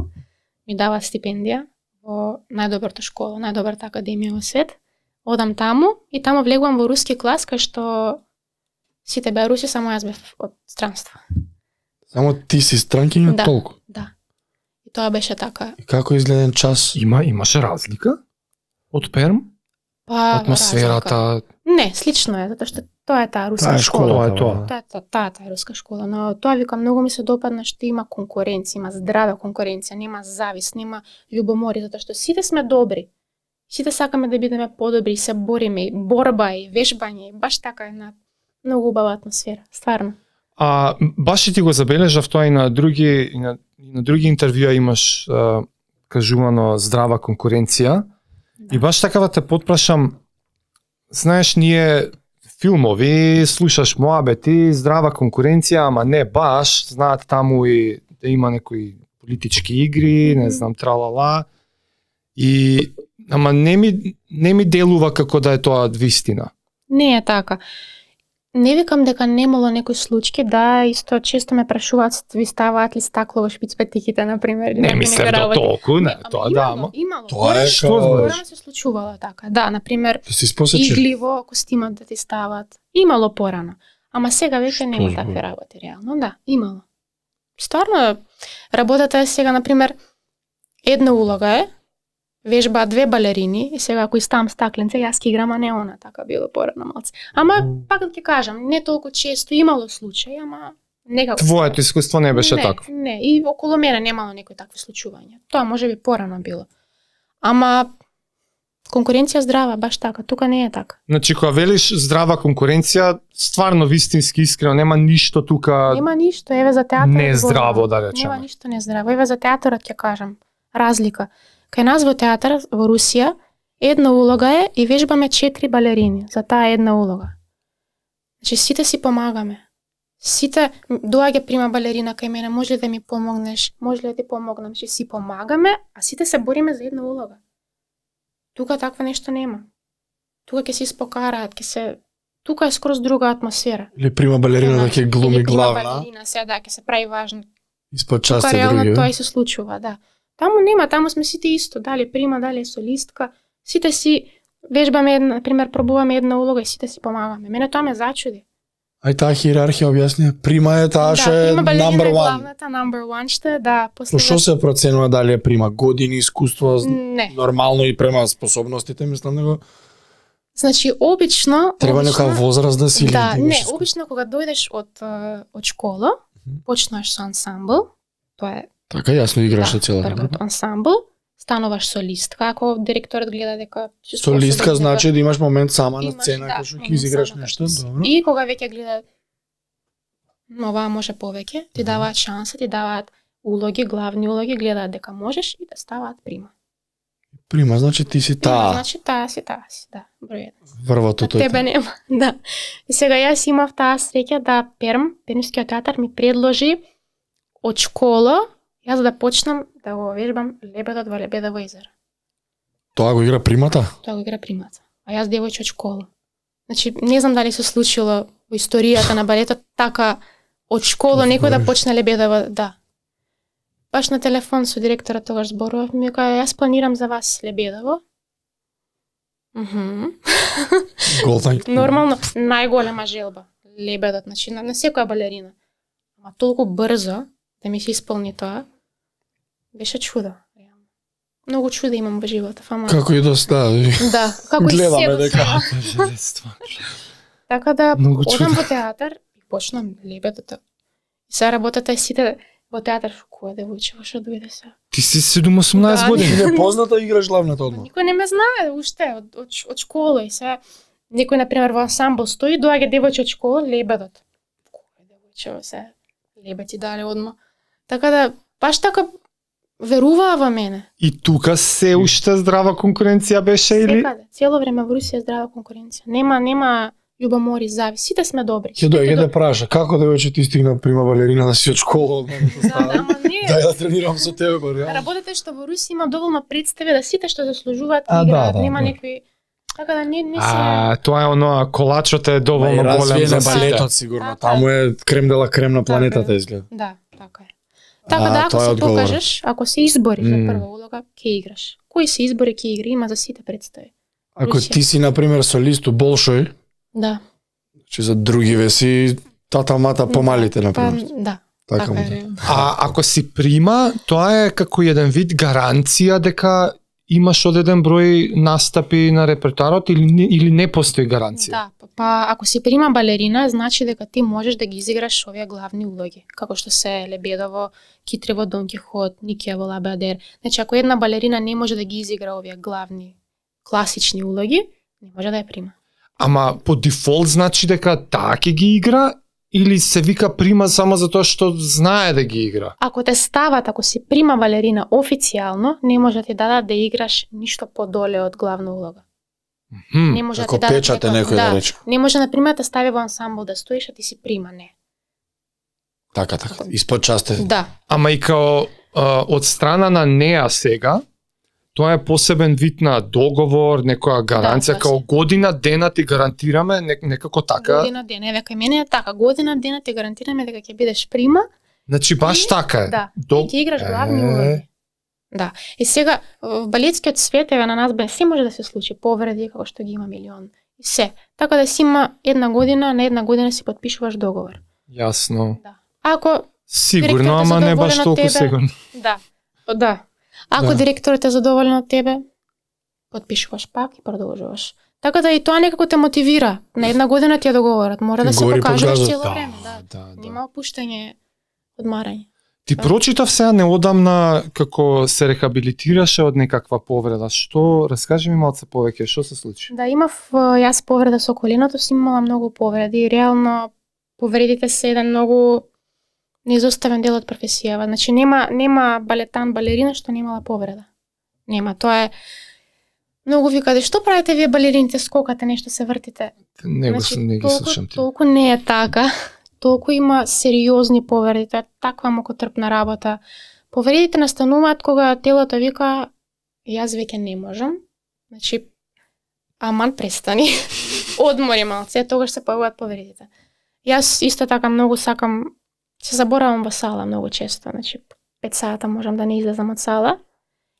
ми дава стипендија, во најдобрата школа, најдобрата академија во свет. Одам таму и таму влегувам во руски клас кај што сите беа руси, само јас бев од странство. Само ти си странкиња Да. толку. Да. И тоа беше така. И како изгледен час? Имаше разлика од Перм? Па Атмосферата, разлика. Не, слично е, затоа што тоа е таа руска Таа е школа. школа, тоа е тоа. Таа е руска школа, но тоа вика многу ми се допадна што има конкуренција, има здрава конкуренција, нема завист, нема љубомори, затоа што сите сме добри. Сите сакаме да бидеме подобри, се бориме, и борба и вежбање, и баш така една многу убава атмосфера, стварно. А баш и ти го забележав тоа и на други интервјуа имаш кажувано здрава конкуренција. Да. И баш така да те потпрашам, знаеш, ние филмови, слушаш моабети, здрава конкуренција, ама не баш, знаат таму и да има некои политички игри, не знам, тралала. И ама не ми делува како да е тоа вистина. Не е така. Не викам дека немало некои случаи, да, исто често ме прашуваат, ви ставаат ли стакло во шпицпетиките, например. Не мислам да толку, не, тоа да, ама. Имало. Тоа е Што како збориш? Порано се случувало така. Да, например, да си спосечи. игли во костимот да ти стават. Имало порано. Ама сега веќе нема збориш? такви работи реално, да, имало. Стварно, работата е сега, например, една улога е, вежбаат две балерини и сега ако ставам стакленце, јас ќе играм, а не она, така било порано малце. Ама пак да ќе кажам, не толку често имало случаи, ама некако. Твоето искуство не беше такво. Не, и околу мене немало некои такви случувања. Тоа можеби порано било. Ама конкуренција здрава, баш така, тука не е така. Значи, кога велиш здрава конкуренција, стварно вистински искрено, нема ништо тука Нема ништо, еве за театар. не здраво, да речеме. Нема ништо не здраво. Еве за театарот ќе кажам. Разлика. Кај нас во театар во Русија една улога е и вежбаме 4 балерини за таа една улога. Значи сите си помагаме. Сите доаѓа прима балерина кај мене, може ли да ми помогнеш, може ли да ти помогнам, значи си помагаме, а сите се бориме за една улога. Тука таква нешто нема. Тука ќе се испокараат, тука е скроз друга атмосфера. Или прима балерина да ќе глуми Или прима главна, балерина, сега да ќе се прави важно. испод Тука части реално други. тоа и се случува, да. Таму нема, таму сме сите исто, дали прима, дали е солистка, сите си вежбаме една, например, пробуваме една улога и сите си помагаме. Мене тоа ме зачуди. Ај таа хиерархија објасни. Прима е таа што е прима балерина number е one. главната, number one ще е, да, после... Но што се проценува дали е прима години искуство, Не. нормално и према способностите, мислам него Значи, обично... треба нека возраст да си или Да, да не, имаш искуство. обично кога дојдеш од школа, почнаш со ансамбл, тоа е Така јасно играше цела првиот група. ансамбл, стануваш солистка, ако директорот гледа дека ќе Солистка способен значи да имаш момент сама на Имаш, сцена да, кога што ќе момент изиграш сама нешто, кај што си. добро. И кога веќе гледа оваа може повеќе, ти даваат шанса, ти даваат улоги, главни улоги, гледаат дека можеш и да ставаат прима. Прима значи ти си Прима, таа значи таа си, да, број 1. врвото тој. Тебе нема, да. И сега јас имав таа среќа да Пермскиот театар ми предложи од школа јас да почнам да го вежбам лебедот во Лебедово езеро. Тоа го игра примата? Тоа го игра примата. А јас девојче од школа. Значи, не знам дали се случило во историјата на балетот така од школа некој да почне Лебедово, да. Баш на телефон со директорот тогаш зборував, ми кажа, јас планирам за вас Лебедово. Голтан. Нормално, најголема желба, Лебедот, значи на секоја балерина. Ама толку брзо да ми се исполни тоа, беше чудо. Многу чуда имам во животот, ама... Како и доста, Да, како и гледаме се до дека сега. Така да, Многу одам чуда. во театар и почнам Лебедото. И сега работата е сите во театар, која девојче, во што дојде сега. Ти си 17-18 Да, години. не позната играш главната одма. Никој не ме знае уште од школа и сега некој например во ансамбл стои, доаѓа девојче од школа, Лебедот. Кој девојче сега? Лебед ти дали одма. Така да баш така веруваа во мене. И тука се уште здрава конкуренција беше или? Секаде, цело време во Русија е здрава конкуренција. Нема љубомори, завис, сите сме добри. Ќе дојде да праша, како девојче ти стигна прима балерина да си од школа? Да, ама не. Дај да тренирам со тебе, го реално. Работата е што во Русија има доволно представи да сите што заслужуваат А, играат, да, нема да. некои така да не се Тоа е оно, колачот е доволно голем Развиен за е сите. балетот сигурно. Така. Таму е крем дела крем на планетата изгледа. Да, така е. Така да ако тоа е се одговор. покажеш, ако се избориш за М. прва улога, ќе играш. кои се избори ќе игри, има за сите представи. Ако ти си на пример солист у Болшој, Да. че за други веси тата мата помалите на пример. Да. Така Така му. е. А ако си прима, тоа е како еден вид гаранција дека имаш одреден број настапи на репертоарот или не постои гаранција? Да, па ако си прима балерина, значи дека ти можеш да ги изиграш овие главни улоги, како што се Лебедово, Китрево, Дон Кихот, Никија во Лабеадер. Значи ако една балерина не може да ги изигра овие главни класични улоги, не може да ја прима. Ама по дефолт значи дека таа ќе ги игра или се вика прима само затоа што знае да ги игра? Ако те стават, ако си прима балерина официјално, не може да ти дадат да играш ништо подоле од главна улога. Не може Ако да ти дадат печате некој- некој да рече. Не може, например, да стави во ансамбл да стоиш, а ти си прима, не. Така. Испод част Да. Ама и као од страна на неа сега, тоа е посебен вид на договор, некоја гаранција, Да, као година дена ти гарантираме, некако така. Година дена, века мене е така, година дена ти гарантираме дека ќе бидеш прима. Значи баш И- така е. Да, и ќе играш главни улоги. Да. И сега во балетскиот свет еве на нас бе се може да се случи, повреди како што ги има милион. И се. Така да си има една година, на една година си потпишуваш договор. Јасно. Да. Ако Сигурно, директорот е ама не баш задоволен од толку тебе. сигурно. да. Да. Ако Да. директорот е задоволен од тебе, потпишуваш пак и продолжуваш. Така да и тоа некако те мотивира. На една година ти е договорот, мора да се Гори покажеш по цело газот. време, да. да. Нема опуштање, одмарање. Ти прочитав сега неодамна како се рехабилитираше од некаква повреда. Што, раскажи ми малце повеќе, што се случи? Да, имав јас повреда со коленото, си имала многу повреди. Реално повредите се еден многу неизоставен дел од професијава. Значи нема балетан, балерина што немала повреда. Нема, тоа е многу викаде, што правите вие балерините, скокате, нешто се вртите. Не ги слушам ти. Толку не е така. Толку има сериозни повреди, тоа е таква мокотрпна работа. Повредите настануваат кога телото вика јас веќе не можам. Значи аман престани. Одмори малце, тогаш се појавуваат повредите. Јас исто така многу сакам, се заборавам во сала многу често, значи 5 сата можам да не излезам од сала.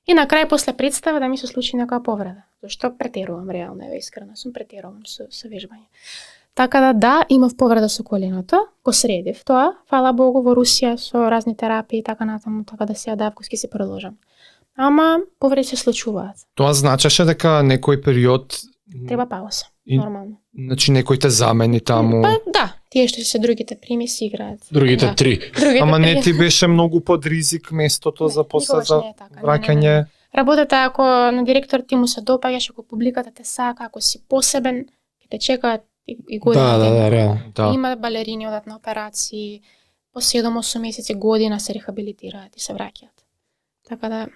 И на крај после представа да ми се случи некоја повреда. Зашто претерувам реално, еве искрено сум претерувам со вежбање. Така да, имав повреда со коленото, го средив тоа, фала Богу во Русија со разни терапии и така натаму, така да се адапкуски се продолжам. Ама повреди се случуваат. Тоа значеше дека некој период Треба пауза, И- нормално. значи некој те замени таму. Па да, тие што се другите прими си играат. Другите Да. три. Другите Ама не три. ти беше многу под ризик местото за после никогаш за не е така, не. враќање. Работата е ако на директор ти му се допаѓаш, ако публиката те сака, ако си посебен, ќе те чекаат и година. Да, реално. Да. Има балерини одат на операции, по 7-8 месеци, година се рехабилитираат и се враќаат. Така да,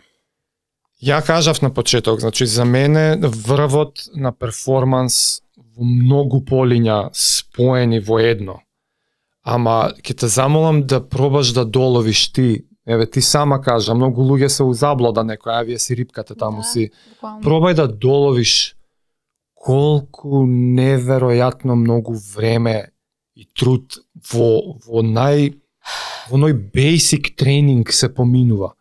Ја кажав на почеток, значи за мене врвот на перформанс во многу полиња споени во едно. Ама ќе те замолам да пробаш да доловиш ти. Еве ти сама кажа, многу луѓе се у заблуда некоја, вие си рипкате таму Да. си. буквално. Пробај да доловиш колку неверојатно многу време и труд во ној basic тренинг се поминува.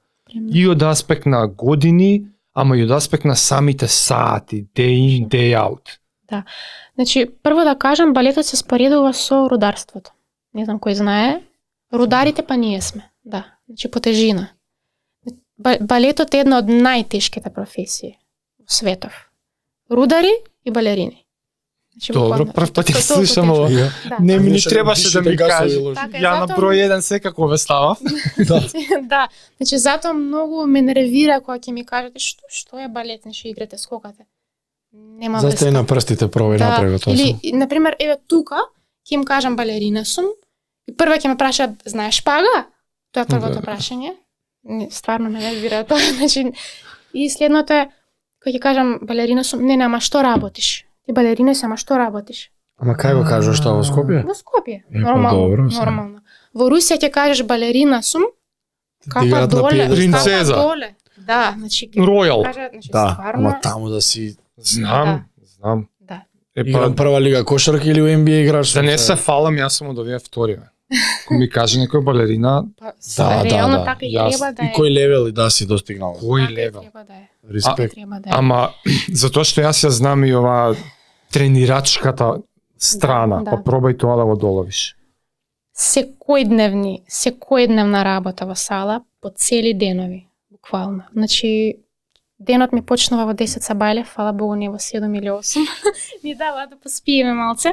И од аспект на години, ама и од аспект на самите сати, day in, day out. Значи, прво да кажам, балетот се споредува со рударството. Не знам кој знае. Рударите па ние сме. Да, значи по тежина. Балетот е една од најтешките професии во светов. Рудари и балерини. Значи, Добро, буквално, прв пат ја толку слушам тешко. ова. Да. Не ми ни Више, требаше да ми вишите гасови кажеш. лоши. Така е, Ја на затоа- број 1 секако ве ставав. Да, значи затоа многу ме нервира кога ќе ми кажете што е балет, значи играте, скокате. Нема врска. Застај на прстите, пробај направи тоа. Или, на пример, еве тука, ќе им кажам балерина сум, и прва ќе ме прашаат, знаеш шпага? Тоа е првото Да. прашање. Стварно ме нервира тоа, значи, и следното е, кога ќе кажам балерина сум, не, ама што работиш? Ти балерина си, ама што работиш? Ама кај го кажеш тоа во Скопје? Во Скопје, Е, па нормално, добро, сега. нормално. Во Русија ќе кажеш балерина сум, капа Играат на доле, пиедестал. Принцеза. капа доле. Да, значи, ќе Ројал. кажат, значи, Да, стварно, ама таму да си Знам, знам. да. Епа, играм прва лига кошарка или у NBA играш? да не се фалам, јас сум од овие вториве. Кој ми каже некоја балерина, Па, Да, реално да. така и Јас- треба да И е. кој левел и да си достигнал. кој Така и левел. треба да е. Респект. Треба да е. Ама затоа што јас ја знам и ова тренирачката страна, Да, па да. пробај тоа да го доловиш. Секојдневна работа во сала по цели денови, буквално. Значи, денот ми почнува во 10 са бајле, фала Богу не во 7 или 8. Ни дава да поспиеме малце.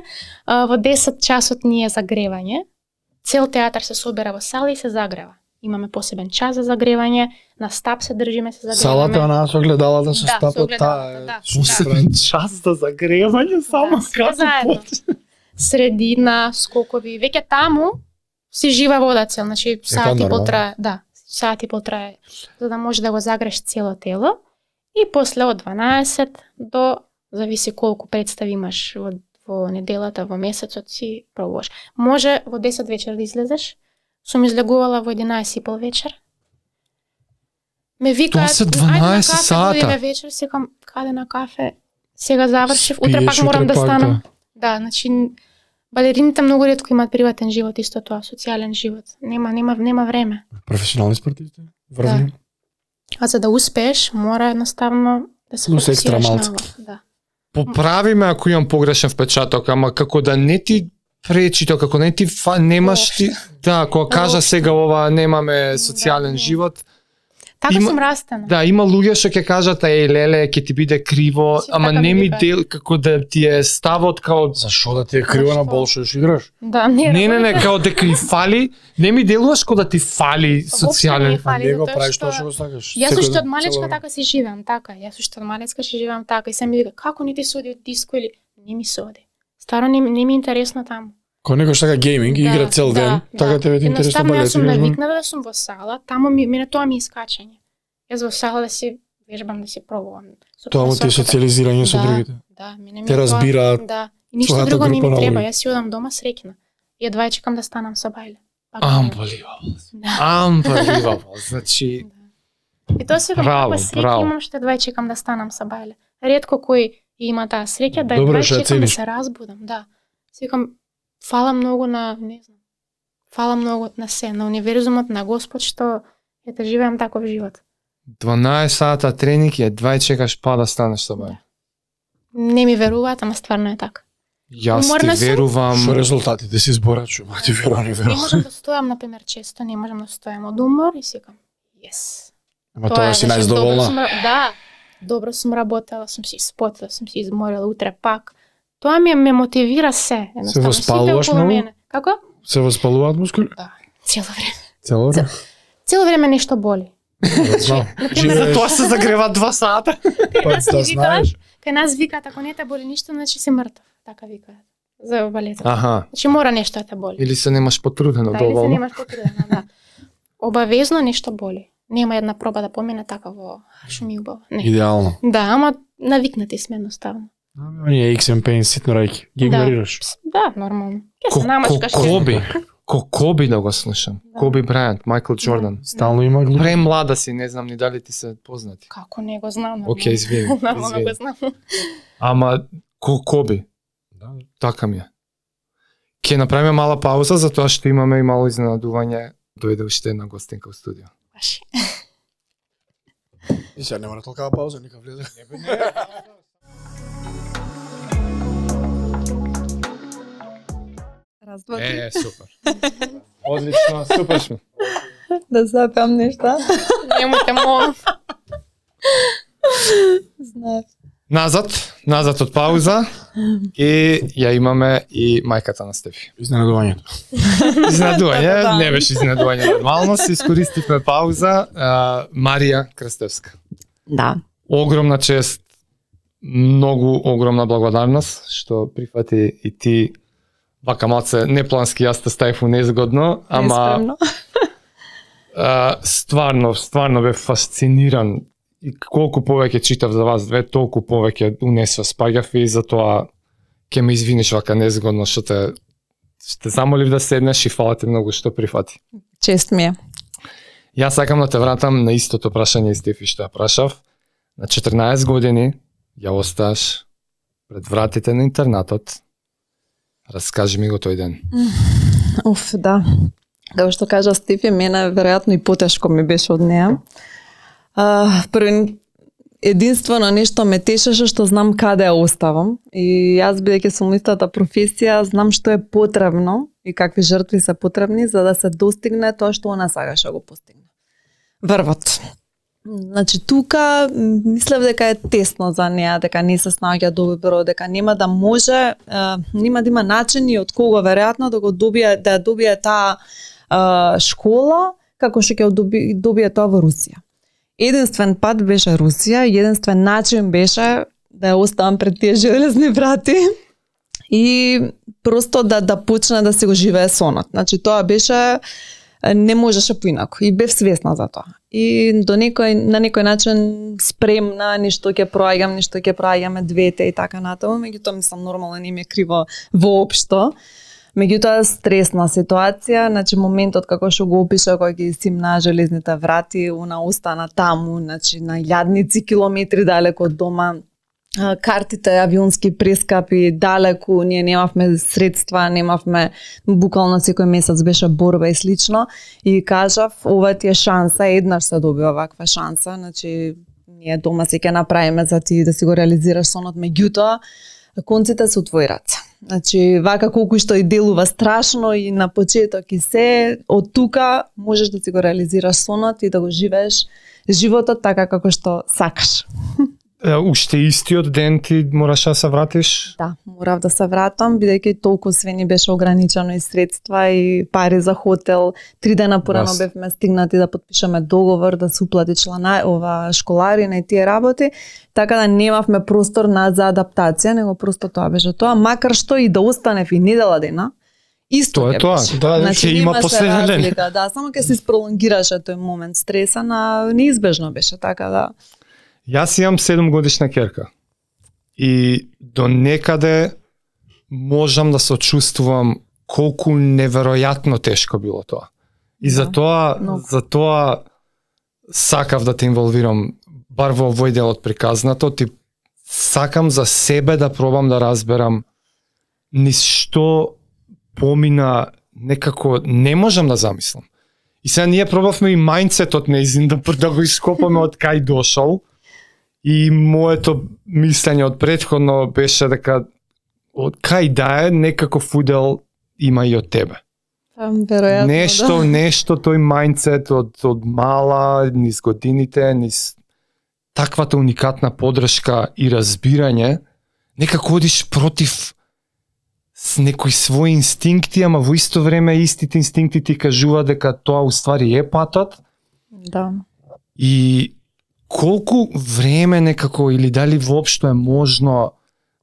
Во 10 часот ни е загревање. Цел театар се собира во сала и се загрева. Имаме посебен час за загревање, на стап се држиме, се загреваме. Салата она со огледалата со Да, со стапот, огледалата, таа да. супер. час за загревање Да, сите заедно. Средина, скокови, веќе таму си жива вода цел, значи сат и пол нормално. трае, да, сат и пол трае, за да може да го загреш цело тело и после од 12 до зависи колку представи имаш во неделата, во месецот си пробуваш. Може во 10 вечер да излезеш, сум излегувала во 11 и пол вечер. Ме викаат, Тоа се ајде на 12 кафе, сата. дојдеме вечер, секам, каде на кафе, сега завршив, утре Спиеш, пак морам утре да пак, станам. Да, значи балерините многу ретко имаат приватен живот, исто тоа, социјален живот. Нема време. Професионални спортисти. Врвни. А за да успееш, мора едноставно да се Плюс екстра фокусираш на малце. ова. Да. Поправи ме ако имам погрешен впечаток, ама како да не ти пречи тоа, како не ти немаш ти, да, кога кажа сега ова немаме социјален не. живот, Така Има- сум растена. да, има луѓе што ќе кажат леле, ќе ти биде криво, Си ама така не ми ми викаат. дел како да ти е ставот као Зашо да ти е криво на Зашто? бол што играш? Да, не, као дека ни фали, не ми делуваш као да ти фали не социјален. е фали, Не го затоа правиш што- тоа што го сакаш. Јас Секој уште од ден, малечка цело така си живеам, така. Јас уште од малечка си живеам така и се ми вика како не ти се оди од диско или не ми се оди. Старо не ми е интересно таму. Кој некој што сака гейминг и игра цел ден, така тебе ти интересно Едноставно јас балет. сум играш, навикната да сум во сала, таму мене тоа ми е искачање. Јас во сала да си вежбам, да си пробувам. Со Тоа му ти е професорката. социализирање со Да. другите. Да, мене ми Те е тоа- разбираат Да. И ништо твојата друго не група ми на треба, луѓе. јас си одам дома среќна. И едва чекам да станам со бајле. Пак Unbelievable. Да. Unbelievable. Значи, И тоа се Браво, како среќа браво. имам што едва чекам да станам со бајле. Ретко кој има таа среќа да Добро едва што ја чекам да цениш. се разбудам, да. Секам фала многу на, не знам. Фала многу на се, на универзумот, на Господ што ете живеам таков живот. 12 сата тренинг и едва чекаш па да станеш со бај. Не ми веруваат, ама стварно е така. Јас Уморна ти сум. верувам. Што резултатите си зборачу, ма ти верувам, не Не верувам. можам да стојам, например, често, не можам да стојам од умор и секам, yes. Ама тоа си значи, добро најздоволна. сум да, добро сум работела, сум си испотила, сум си изморила, утре пак. Тоа ме мотивира се, едноставно. воспалуваш Сите околу многу? мене. Како? Се воспалуваат мускули? Да, цело време. Цело време. Цело време нешто боли. Знам. Например, Живееш, Тоа се загрева 2 сата. па нас да ни знаеш. викаат, кај нас викаат, ако не те боли ништо, значи си мртов. Така викаат. За балетот. Аха. Значи мора нешто да те боли. Или се немаш потрудено Да, или се доволно. немаш потрудена, да. Обавезно нешто боли. Нема една проба да помине така во шо ми убаво. Не. Идеално. Да, ама навикнати сме едноставно. Оние X Pain ситно рајки. Ги Да. игнорираш. Да, нормално. Ке се намачкаш. Коби. Коби да го слушам. Да. Коби Брајант, Майкл Џордан. Стално има глуп. Премлада си, не знам ни дали ти се познати. Како не го знам. нормално. Океј, извини. Нормално извини. го знам. Ама Коби, Да. така ми е. Ќе направиме мала пауза затоа што имаме и мало изненадување. Дојде уште една гостинка во студио. Баш. И сега нема на толкава пауза, нека влезе. Раз, два, три. Супер. Одлично, супер сме. Да запеам нешта. Немојте молам. Знаеш. Назад од пауза и ја имаме и мајката на Стефи. Изненадувањето. Изненадување, Да. не беше изненадување нормално, се искористивме пауза. Марија Крстевска. Да. Огромна чест, многу огромна благодарност што прифати и ти вака малце неплански јас те ставив у незгодно, ама Неспремно. стварно бев фасциниран и колку повеќе читав за вас две, толку повеќе унесва спаѓав и затоа ќе ме извиниш вака незгодно што те замолив да седнеш и фала ти многу што прифати. Чест ми е. Јас сакам да те вратам на истото прашање Стефи што ја прашав. На 14 години ја осташ пред вратите на интернатот. Раскажи ми го тој ден. Да. Како што кажа Стефи, мене веројатно и потешко ми беше од неа. Единствено нешто ме тешеше што знам каде ја оставам. И јас, бидејќи сум истата професија, знам што е потребно и какви жртви се потребни за да се достигне тоа што она сакаше да го постигне. Врвот. Значи тука мислев дека е тесно за неа, дека не се снаоѓа добро, дека нема да може, нема да има начини од кого веројатно да го добие таа школа како што ќе добие тоа во Русија. Единствен пат беше Русија, единствен начин беше да ја оставам пред тие железни врати и просто да почне да се го живее сонот. Значи тоа беше, не можеше поинаку и бев свесна за тоа. И на некој начин спремна, нешто ќе проаѓаме двете и така натаму, меѓутоа мислам нормално не ми е криво воопшто. Меѓутоа стресна ситуација, значи моментот како што го опиша кога ги симна железните врати, она остана таму, значи на илјадници километри далеко од дома. Картите авионски прескапи далеку, ние немавме средства, немавме, буквално секој месец беше борба и слично, и кажав, ова ти е шанса, еднаш се добива ваква шанса, значи ние дома се ќе направиме за ти да си го реализираш сонот, меѓутоа конците се у твои раце. Значи, вака колку што и делува страшно и на почеток и се, од тука можеш да си го реализираш сонот и да го живееш животот така како што сакаш. Уште истиот ден ти мораш да се вратиш? Да, морав да се вратам, бидејќи толку све ни беше ограничено и средства и пари за хотел. 3 дена порано бевме стигнати да подпишеме договор, да се уплати школарина и тие работи, така да немавме простор за адаптација, него просто тоа беше тоа, макар што и да останев и недела дена, исто тоа е тоа. Да, значи има последен ден. Да, само ќе се isprolongираше тој момент стресен, а неизбежно беше, така да. Јас имам 7 годишна керка и до некаде можам да се чувствувам колку неверојатно тешко било тоа. И затоа сакав да те инволвирам бар во овој дел од приказнато, ти сакам за себе да пробам да разберам низ што помина, некако не можам да замислам. И сега ние пробавме и мајндсетот неизин да го ископаме од кај дошол. И моето мислење од претходно беше дека од кај да е, некаков удел има и од тебе. Веројатно, нешто тој мајндсет од мала, низ годините, низ таквата уникатна подршка и разбирање, некако одиш против с некои своји инстинкти, ама во исто време истите инстинкти ти кажува дека тоа уствари е патот. Да. И колку време некако, или дали воопшто е можно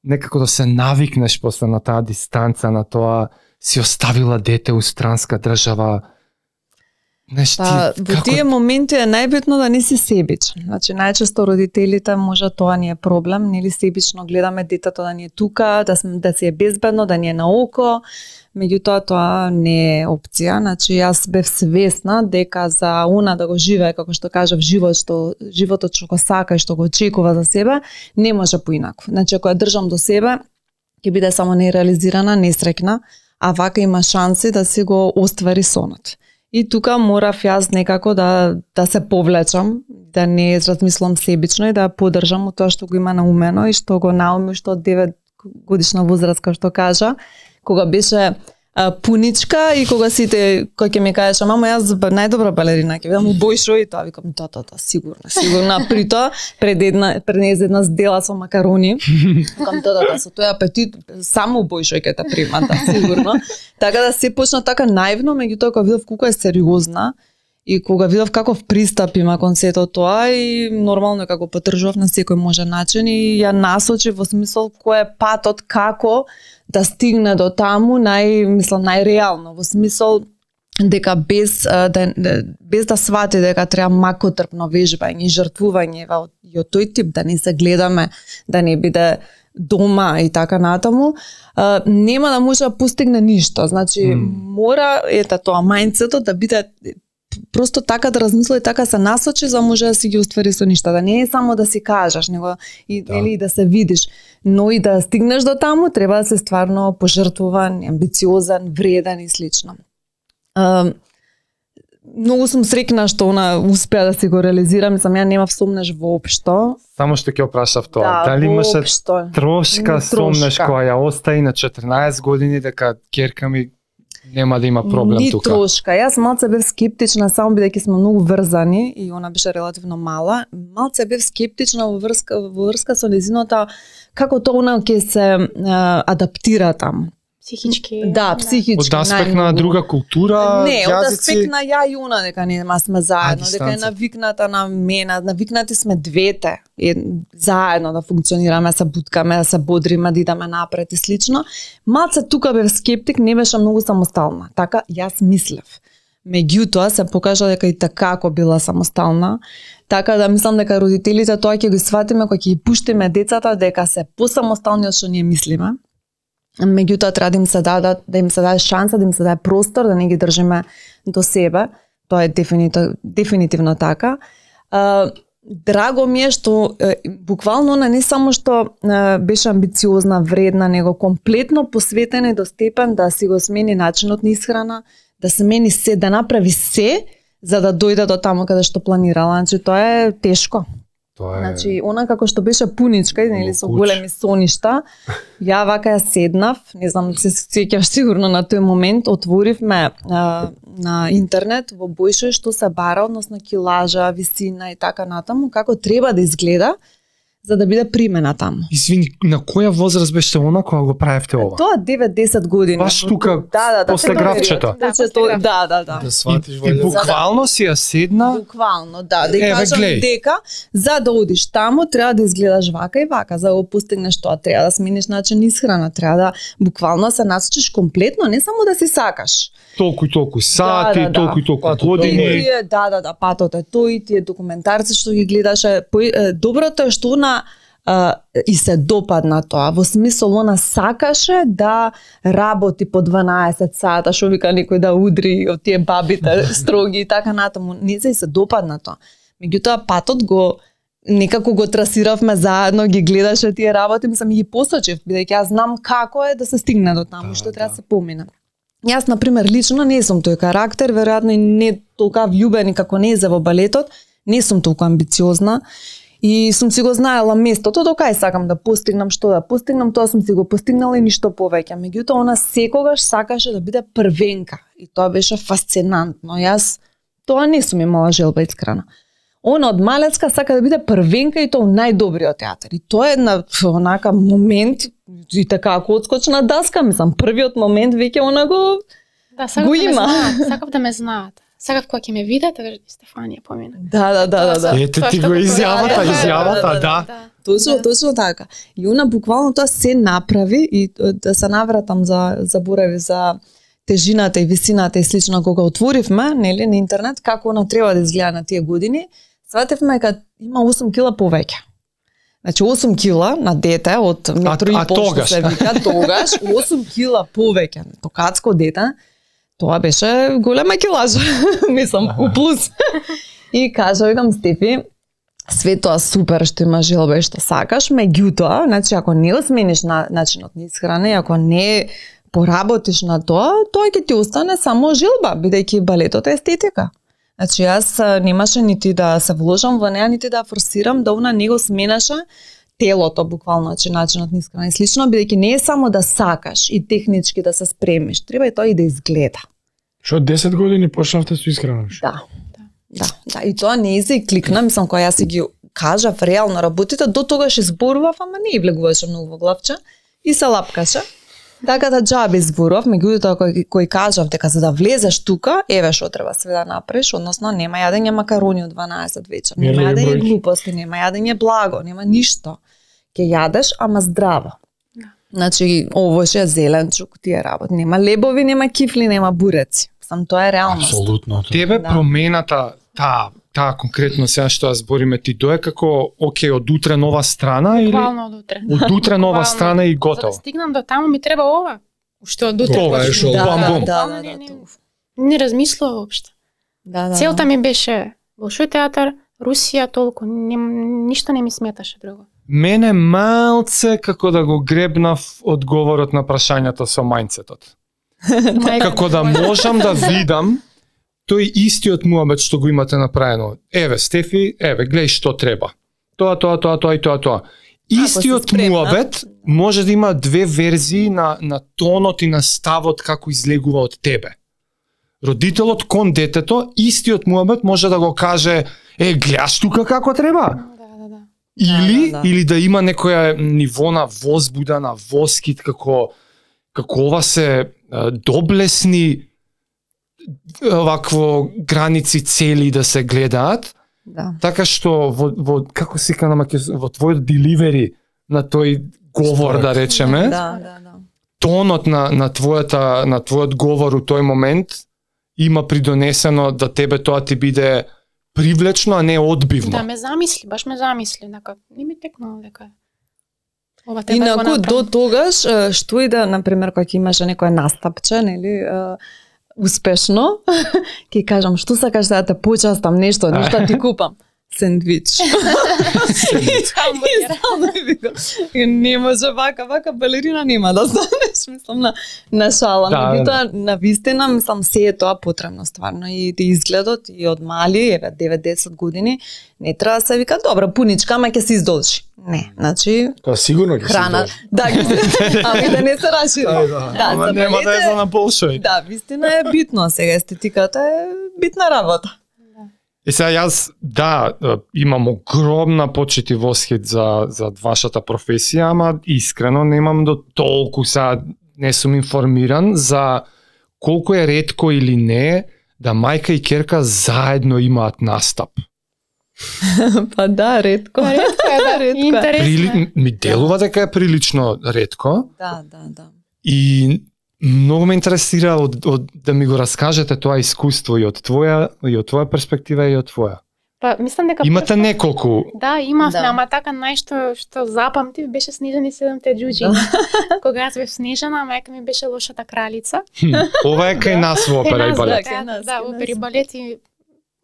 некако да се навикнеш после на таа дистанца, на тоа си оставила дете у странска држава. Во тие моменти е најбитно да не си себичен. Значи најчесто родителите може тоа ни е проблем, нели себично гледаме детето да ни е тука, да си е безбедно, да ни е на око. Меѓутоа тоа не е опција. Значи јас бев свесна дека за она да го живее, како што кажав, животот што го сака и што го очекува за себе, не може поинаку. Значи ако ја држам до себе, ќе биде само нереализирана, несреќна, а вака има шанси да си го оствари сонот. И тука морав јас некако да се повлечам, да не размислам себично и да поддржам од тоа што го има наумено и што го науми што од 9 годишна возраст, како што кажа, кога беше пуничка и кога сите кој ќе ми кажеш, мамо јас најдобра балерина ќе бидам убојшо и тоа викам сигурно. При тоа пред една здела со макарони, викам со тој апетит само убојшо ќе те прима, сигурно. Така да се почна така наивно, меѓутоа кога видов колку е сериозна и кога видов каков пристап има кон сето тоа и нормално како потдржував на секој можен начин и ја насочи во смисол кој е патот како да стигне до таму најреално, во смисол дека без да свати дека треба макотрпно вежбање и жртвување и од тој тип, да не се гледаме, да не биде дома и така натаму, нема да може да постигне ништо. Значи, мора тоа мајндсетот да биде просто така да размисли и така се насочи за може да си ги уствари со ништа, да не е само да си кажеш, него и нели да се видиш, но и да стигнеш до таму треба да се стварно пожртвуван, амбициозен, вреден и слично. Многу сум среќна што она успеа да си го реализира, мислам ја немав сомнеш воопшто. Само што ќе опрашав тоа, Да, дали имаше воопшто. трошка сомнеш која ја остави на 14 години дека ќерка ми нема да има проблем Ни тука? трошка. Јас малце бев скептична, само бидејќи сме многу врзани и она беше релативно мала. Малце бев скептична во врска со незиното како тоа она ќе се адаптира таму. Психички. Да, психички. Од аспект на најмногу. друга култура, Не, од јазици, аспект на ја и она дека нема сме заедно, дека е дистанца. навикната на мене, навикнати сме двете заедно да функционираме, да се буткаме, да се бодриме, да идеме напред и слично. Малце тука бев скептик, не беше многу самостална. Така јас мислев. Меѓутоа се покажа дека и така ако била самостална, така да мислам дека родителите тоа ќе го сватиме кога ќе ги пуштиме децата дека се посамостални од што ние мислиме. Меѓутоа треба да им се даде шанса, да им се даде простор, да не ги држиме до себе. Тоа е дефинитивно така. Драго ми е што буквално она не само што беше амбициозна, вредна, него комплетно посветена до степен да си го смени начинот на исхрана, да смени се, да направи се за да дојде до таму каде што планирала. Значи тоа е тешко. тоа е Значи, она како што беше пуничка, нели, со Куч. големи соништа, ја вака ја седнав, не знам, се сеќаш сигурно на тој момент, отворивме на интернет во Бојшој што се бара, односно килажа, висина и така натаму, како треба да изгледа за да биде примена таму. Извини, на која возраст беше она кога го правевте ова? Тоа 9-10 години. Баш тука, после тој графчето. период. Значи, тоа- да. Да сватиш И валјда. буквално си ја седна, Буквално, да Еве, кажам глеј. дека за да одиш таму треба да изгледаш вака и вака, за да го постигнеш тоа треба да смениш начин исхрана, треба да буквално се насочиш комплетно, не само да си сакаш. толку и толку сати, Да. толку и толку Патот години. тој. Тие, да, патот е тој, тие документарци што ги гледаше, доброто е што она и се допадна тоа, во смисол она сакаше да работи по 12 сата, што вика некој да удри од тие бабите строги и така натаму, не се допадна тоа. Меѓутоа патот го некако го трасиравме заедно, ги гледаше тие работи, мислам и ги посочив, бидејќи јас знам како е да се стигне до таму, што треба да се помине. Јас, например, лично не сум тој карактер, веројатно и не толку вјубен како не е во балетот, не сум толку амбициозна и сум си го знаела местото до кај сакам да постигнам, што да постигнам, тоа сум си го постигнала и ништо повеќе. Меѓутоа, она секогаш сакаше да биде првенка и тоа беше фасцинантно. Јас тоа не сум имала желба искрена. Она од малецка сака да биде првенка и тоа најдобриот театар. И тоа е една онака момент и така ако одскочна daска, мислам, првиот момент веќе она го Да, сакав Го да ме има. знаат, сакав да ме знаат. Сакав кога ќе ме видат, да кажат Стефанија помина. Да. Ете Тоа ти што го го изјавата, правиш. изјавата, да. Точно така. И она буквално тоа се направи и да се навратам заборави за тежината и висината и слично кога отворивме, нели, на интернет како она треба да изгледа на тие години, сватевме дека има 8 кила повеќе. Значи 8 кила на дете од метро и пол што тогаш? се вика тогаш 8 кила повеќе. Токацко дете, тоа беше голема килажа, мислам, у плюс. И кажа, викам Стефи, све тоа супер што има желба и што сакаш, меѓутоа, значи ако не го смениш начинот на исхрана и ако не поработиш на тоа, тоа ќе ти остане само желба, бидејќи балетот е естетика. Значи јас немаше нити да се вложам во неа, нити да форсирам, да она не го сменаше телото буквално, значи начинот на исхрана и слично, бидејќи не е само да сакаш и технички да се спремиш, треба и тоа и да изгледа. Што од 10 години почнавте со исхрана? Да, и тоа не изе и кликна, мислам, кога јас си ги кажав реално работите, до тогаш изборував, ама не и влегуваше многу во главче и се лапкаше. Така да џабе изборував, меѓутоа кој кажав дека за да влезеш тука, еве што треба све да направиш, односно нема јадење макарони од 12 вечер, нема Мерливи јадење бројки. глупости, нема јадење благо, нема ништо. Ќе јадеш, ама здраво. Значи, овоше, зеленчук, тие работи. Нема лебови, нема кифли, нема буреци. Сам тоа е реалност. Апсолутно. Тебе Да. промената, таа конкретно сега што ја збориме ти, тоа е како, окей, од утре нова страна или Буквално од утре. од утре нова Буквално. страна и За да готово? стигнам до таму ми треба ова. Уште од утре. Тоа е почнам. шо, бам, бум. Буквално не размислував воопшто. Да, Целта ми беше Болшој театар, Русија, толку, ништо не ми сметаше друго. Мене малце како да го гребнав одговорот на прашањето со мајндсетот. Како да можам да видам тој истиот муабет што го имате направено. Еве, Стефи, гледај што треба. Тоа и тоа. Истиот муабет може да има две верзии на тонот и на ставот како излегува од тебе. Родителот кон детето, истиот муабет може да го каже, гледаш тука како треба. Да. Или да има некоја ниво на возбуда, на воскит, како ова се доблесни вакво граници цели да се гледаат. Да. Така што во како се ка на во твојот деливери на тој говор, да речеме, тонот на твојот говор у тој момент има придонесено да тебе тоа ти биде привлечно, а не одбивно. Да, баш ме замисли, дека не ми текнало дека ова треба да го направам. Инаку до тогаш, што и да, например, кога имаше некоја настапче, нели, успешно, ќе кажам, што сакаш да те почастам нешто ти купам. Сендвич. Не може вака балерина нема да станеш, мислам на шала. Меѓутоа, на вистина, мислам, се е тоа потребно стварно и изгледот и од мали, 9-10 години, не треба да се вика, добра, пуничка, ама ќе се издолжи. Не, значи Тоа сигурно ќе се издолжи. Да, ами да не се рашири. Ама нема да е за на Болшој. Да, вистина е битно, сега естетиката е битна работа. И сега јас, имам огромна почит и восхит за вашата професија, ама искрено немам до толку, сега не сум информиран за колку е ретко или не да мајка и ќерка заедно имаат настап. Па да, ретко. Ретко е. Интересно. Ми делува дека е прилично ретко. Да. И многу ме интересира да ми го раскажете тоа искуство и од твоја перспектива и од твоја. Па мислам дека имате неколку. Да, имавме, ама така најшто што запамтив беше Снежана и 7-те џуџи. Кога јас бев Снежана, мајка ми беше лошата кралица. Ова е кај нас во опера и балет. Да, опера и балет и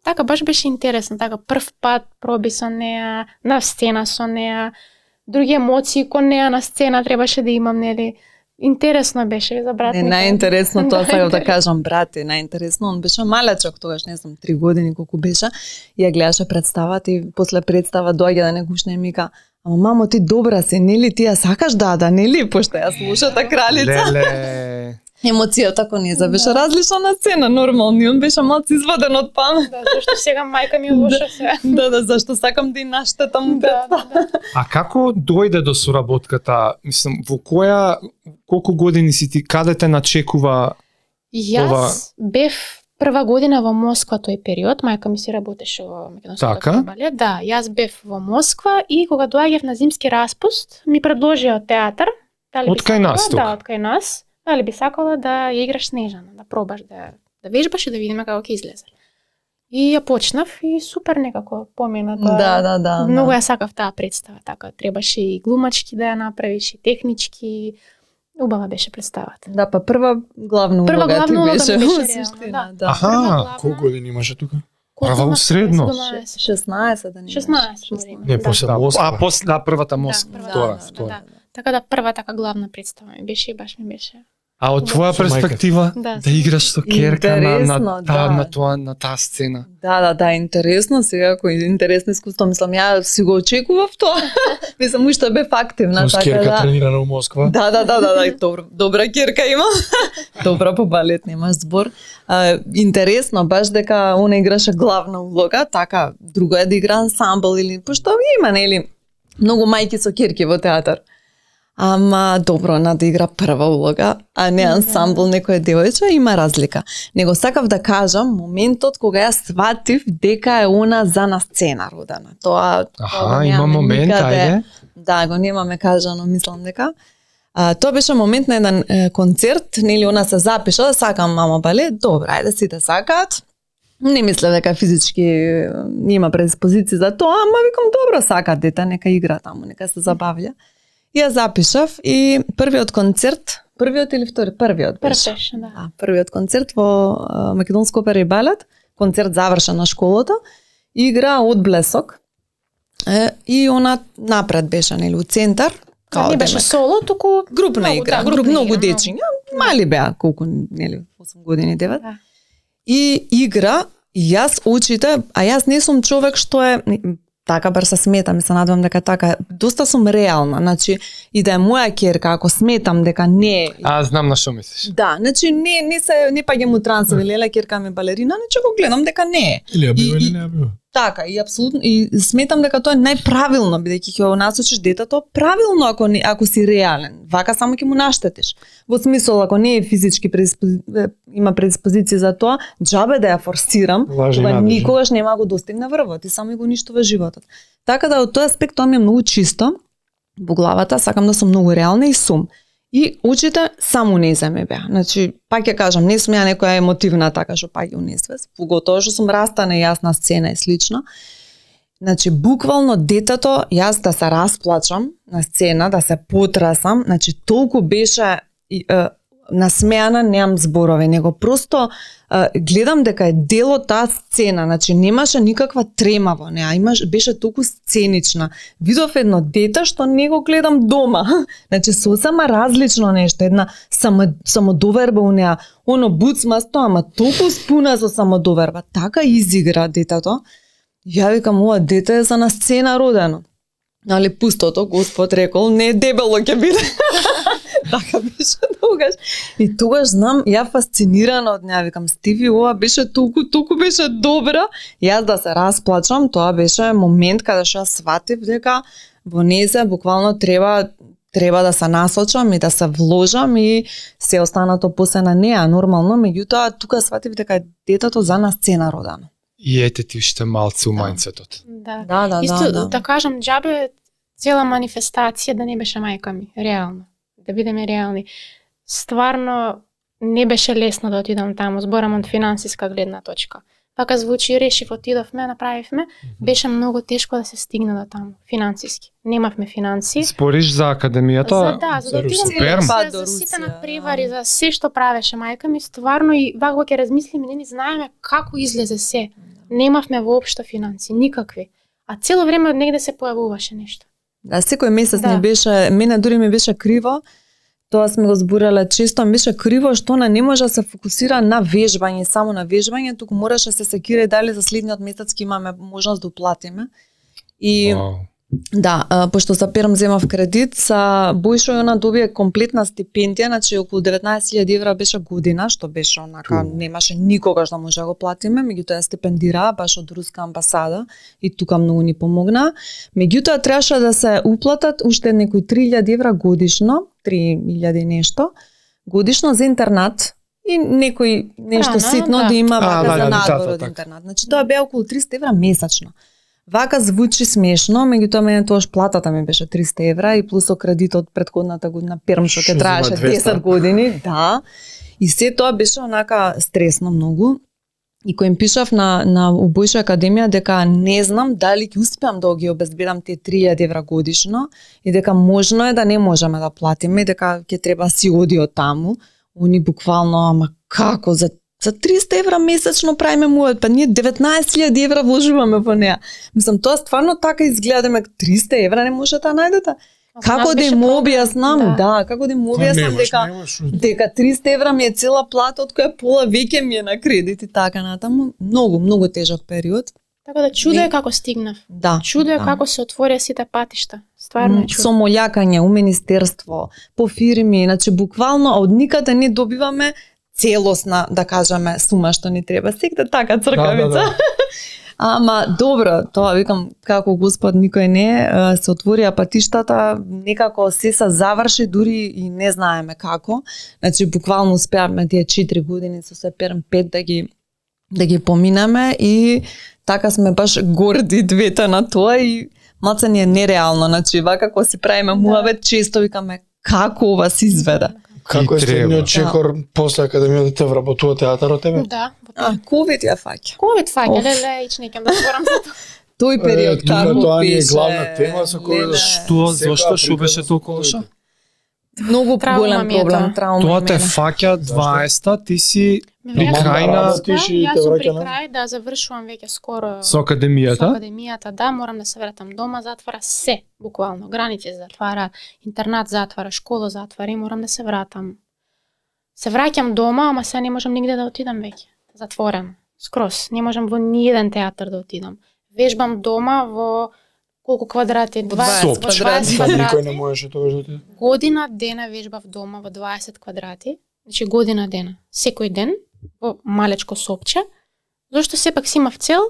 така баш беше интересно, така прв пат проби со неа, на сцена со неа, други емоции кон неа на сцена требаше да имам, нели? Интересно беше за брат ми. Најинтересно тоа сакам да кажам, брат е најинтересно. Он беше малечок тогаш, не знам, 3 години колку беше. Ја гледаше представата и после представа доаѓа да не гушне и мика: "Ама мамо, ти добра си, нели ти ја сакаш нели?" Пошто јас лошата кралица. Леле. Емоцијата кон неја беше различна на сцена, нормално, и он беше малку изваден од памет. Да, зашто сега мајка ми лоша се. Да, зашто сакам да и наштетам представа. А како дојде до соработката? Мислам, во колку години си ти, каде те начекува? Јас бев прва година во Москва тој период, мајка ми си работеше во Македонскиот балет. Да, јас бев во Москва и кога доаѓав на зимски распуст, ми предложија театар. Од кај нас тука? Да, од кај нас. Дали би сакала да ја играш Снежана, да пробаш да вежбаш и да видиме како ќе излезе. И ја почнав и супер некако помина тоа. Да. Многу ја сакав таа представа, така требаше и глумачки да ја направиш и технички. Убава беше представата. Да, па прва главна улога ти беше во суштина. Аха, колку години имаше тука? Прва у средно. 16 да не. 16. Не, после Москва. А после првата Москва, втора. Така да прва така главна представа ми беше и баш ми беше. А од твоја перспектива да играш со ќерка на таа сцена. Да, интересно сега, кој интересно искуство, мислам, ја си го очекував тоа. Мислам, уште бев активна, така да. Ќерка тренирана у Москва. Да, добра ќерка има. Добра по балет, немаш збор. Интересно баш дека она играше главна улога, така друго е да игра ансамбл или пошто има нели многу мајки со ќерки во театар. Ама добро, на да игра прва улога, а не ансамбл некоја девојче, има разлика. Него сакав да кажам моментот кога ја сватив дека е она за на сцена родена. Тоа има момент, ајде. Да, го немаме кажано, мислам дека. Тоа беше момент на еден концерт, нели она се запиша да сакам мама балет, добро, ајде сите сакаат. Не мислев дека физички има предиспозиција за тоа, ама викам добро, сакаат дете, нека игра таму, нека се забавлja. Ја запишав и првиот концерт, првиот или втори? Првиот беше. Да. Првиот концерт во Македонска опера и балет концерт завршен на школата, игра од Блесок. И она напред беше, нели, у центар. Не беше соло, туку групна игра, груп многу дечиња, мали беа, колку, нели, 8 години, 9. Да. И игра, и јас очите, а јас не сум човек што е така бар се сметам и се надевам дека така, доста сум реална, значи и да е моја ќерка, ако сметам дека не. Знам на што мислиш. Да, значи не паѓам у трансови, леле ќерка ми балерина, значи го гледам дека не е. Или ја бива или не ја бива. Така, и апсолутно, и сметам дека тоа е најправилно, бидејќи ќе насочиш детето правилно ако си реален. Вака само ќе му наштетиш. Во смисол, ако не е физички има предиспозиција за тоа, џабе да ја форсирам, кога никогаш нема го достигне врвот и само го уништува животот. Така да од тој аспект тоа ми е многу чисто во главата, сакам да сум многу реална и сум. И очите само унесе ме беа. Значи, пак ќе кажам, не сум ја некоја емотивна така што пак ја унесвес, поготоа што сум растана јас на сцена и слично. Значи, буквално детето, јас да се расплачам на сцена, да се потрасам, значи толку беше насмеана, немам зборови, него просто гледам дека е дел од таа сцена, значи немаше никаква трема во неа, беше толку сценична. Видов едно дете што не го гледам дома. Значи сосема различно нешто, една самодоверба у неа, оно буцмасто, ама толку спуна со самодоверба. Така изигра детето. Ја викам, ова дете е за на сцена родено. Нали, пустото, Господ рекол, не дебело ќе биде. Така беше тогаш. И тогаш знам, ја фасцинирана од неа, викам, Стиви, ова беше толку беше добра. Јас да се расплачам, тоа беше момент каде што јас сватив дека во незе буквално треба да се насочам и да се вложам и се останато после на неа нормално, меѓутоа тука сватив дека детето за на сцена родено. И ете ти уште малце у мајндсетот. Да. Исто да кажам, џабе цела манифестација да не беше мајка ми, реално. Да бидеме реални. Стварно не беше лесно да отидам таму, зборам од финансиска гледна точка. Пака звучи, решив, отидовме, направивме, беше многу тешко да се стигне до таму, финансиски. Немавме финанси. Спориш за академијата? За да отидам за сите надпревари, за се што правеше мајка ми, стварно и вака ќе размислиме, не знаеме како излезе се. Немавме воопшто финанси, никакви. А цело време од негде се појавуваше нешто. Да, секој месец не беше, мене дури ми беше криво, тоа сме го зборале често, ми беше криво што она не може да се фокусира на вежбање, само на вежбање, туку мораше се секира дали за следниот месец ќе имаме можност да уплатиме. И да, пошто за Перм земав кредит, са Бојшо и она добие комплетна стипендија, значи околу 19.000 евра беше година, што беше онака, немаше никогаш да може да го платиме, меѓутоа стипендира баш од Руска амбасада и тука многу ни помогна. Меѓутоа требаше да се уплатат уште некои 3.000 евра годишно, 3.000 нешто, годишно за интернат и некој нешто ситно да има за надвор од интернат. Значи тоа беа околу 300 евра месечно. Вака звучи смешно, меѓутоа мене тоаш платата ми беше 300 евра и плюс кредитот предходната година Перм што ќе траеше 10 години, да. И се тоа беше онака стресно многу. И кој им пишав на Бојшо академија дека не знам дали ќе успеам да ги обезбедам тие 3.000 евра годишно и дека можно е да не можеме да платиме и дека ќе треба си оди од таму. Они буквално, ама како за 300 евра месечно правиме муат, па ние 19.000 евра вложуваме во неа. Мислам, тоа стварно така изгледа, дека 300 евра не може да најдете. Како да им објаснам, како да им објаснам дека 300 евра ми е цела плата, од која пола веќе ми е на кредит и така натаму. Многу тежок период. Така да чудо е како стигнав. Да. Чудо е како се отворија сите патишта. Стварно е чудо. Со молјакање у министерство, по фирми, значи буквално од никаде не добиваме целосна, да кажеме, сума што ни треба. Секта така цркавица. Да. Ама добро, тоа викам, како Господ никој не, се отворија патиштата, некако се заврши, дури и не знаеме како. Значи буквално успеавме тие 4 години со се Перм 5 да ги поминеме и така сме баш горди двете на тоа и малце ни е нереално, значи вака кога си правиме муавет, често викаме како ова се изведе. Како е следниот чекор после академијата, те вработува театарот тебе? Да. Ковид ја фаќа. Ковид фаќа, леле, ич некам да зборам за тоа. Тој период како тоа беше? Тоа е главна тема со која зашто беше толку лошо? Многу Траума голем ми е проблем, тоа. траума. Тоа те мене. фаќа 20-та, ти си при Јас крај сум на работиш и јас те сум враќа при на- крај да завршувам веќе скоро со академијата. со академијата, да, морам да се вратам дома, затвора се, буквално, граници се затвара, интернат затвара, школа затвара и морам да се вратам. Се враќам дома, ама сега не можам нигде да отидам веќе. Затворено. Скроз. Не можам во ниеден театар да отидам. Вежбам дома во колку квадрати? 20 20 20 Па никој не квадрати. можеше тогаш да отиде. Година дена вежбав дома во 20 квадрати. Значи година дена. Секој ден во малечко сопче. Зошто сепак си имав цел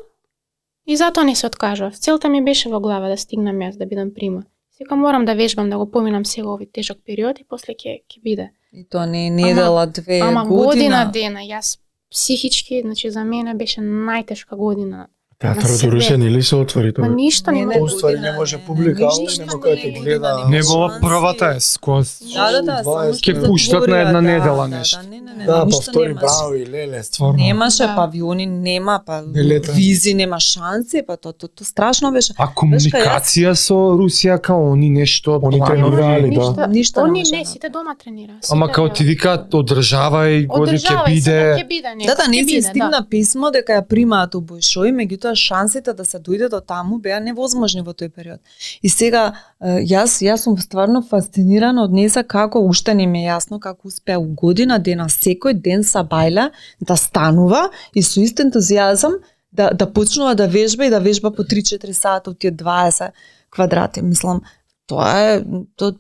и затоа не се откажав. Целта ми беше во глава да стигнам јас, да бидам прима. Сега морам да вежбам, да го поминам сега овој тежок период и после ќе биде. И тоа не е недела, 2 Ама година. година дена, јас психички, значи за мене беше најтешка година. Театарот себе. у Русе не ли се отвори Ма тоа? ништо не Не, може. Поствари не може публика, ништо али нема не кој е те година, гледа. нема Не била шанси. првата е скоз. Да, само 20 што Ќе пуштат на една недела нешто. Да, па ништо втори немаше. браво и леле, стварно. Немаше Да. павиони, нема па Билета. визи, нема шанси, па тоа страшно беше. А комуникација со Русија као они нешто Они планови? тренирали, да. Ништо, Ништо не они може не, да сите дома тренираат. Ама сите као да- ти викаат одржавај, годи ќе Одржавај се, биде. ќе биде некој. Да, не ќе си биде, стигна писмо дека ја примаат у Бојшој, меѓутоа шансите да се дојде до таму беа невозможни во тој период. И сега јас сум стварно фасцинирана од неса како уште не ми е јасно како успеа у година дена секој ден са бајле да станува и со ист ентузијазам да почнува да вежба и да вежба по 3-4 сата од тие 20 квадрати. Мислам, тоа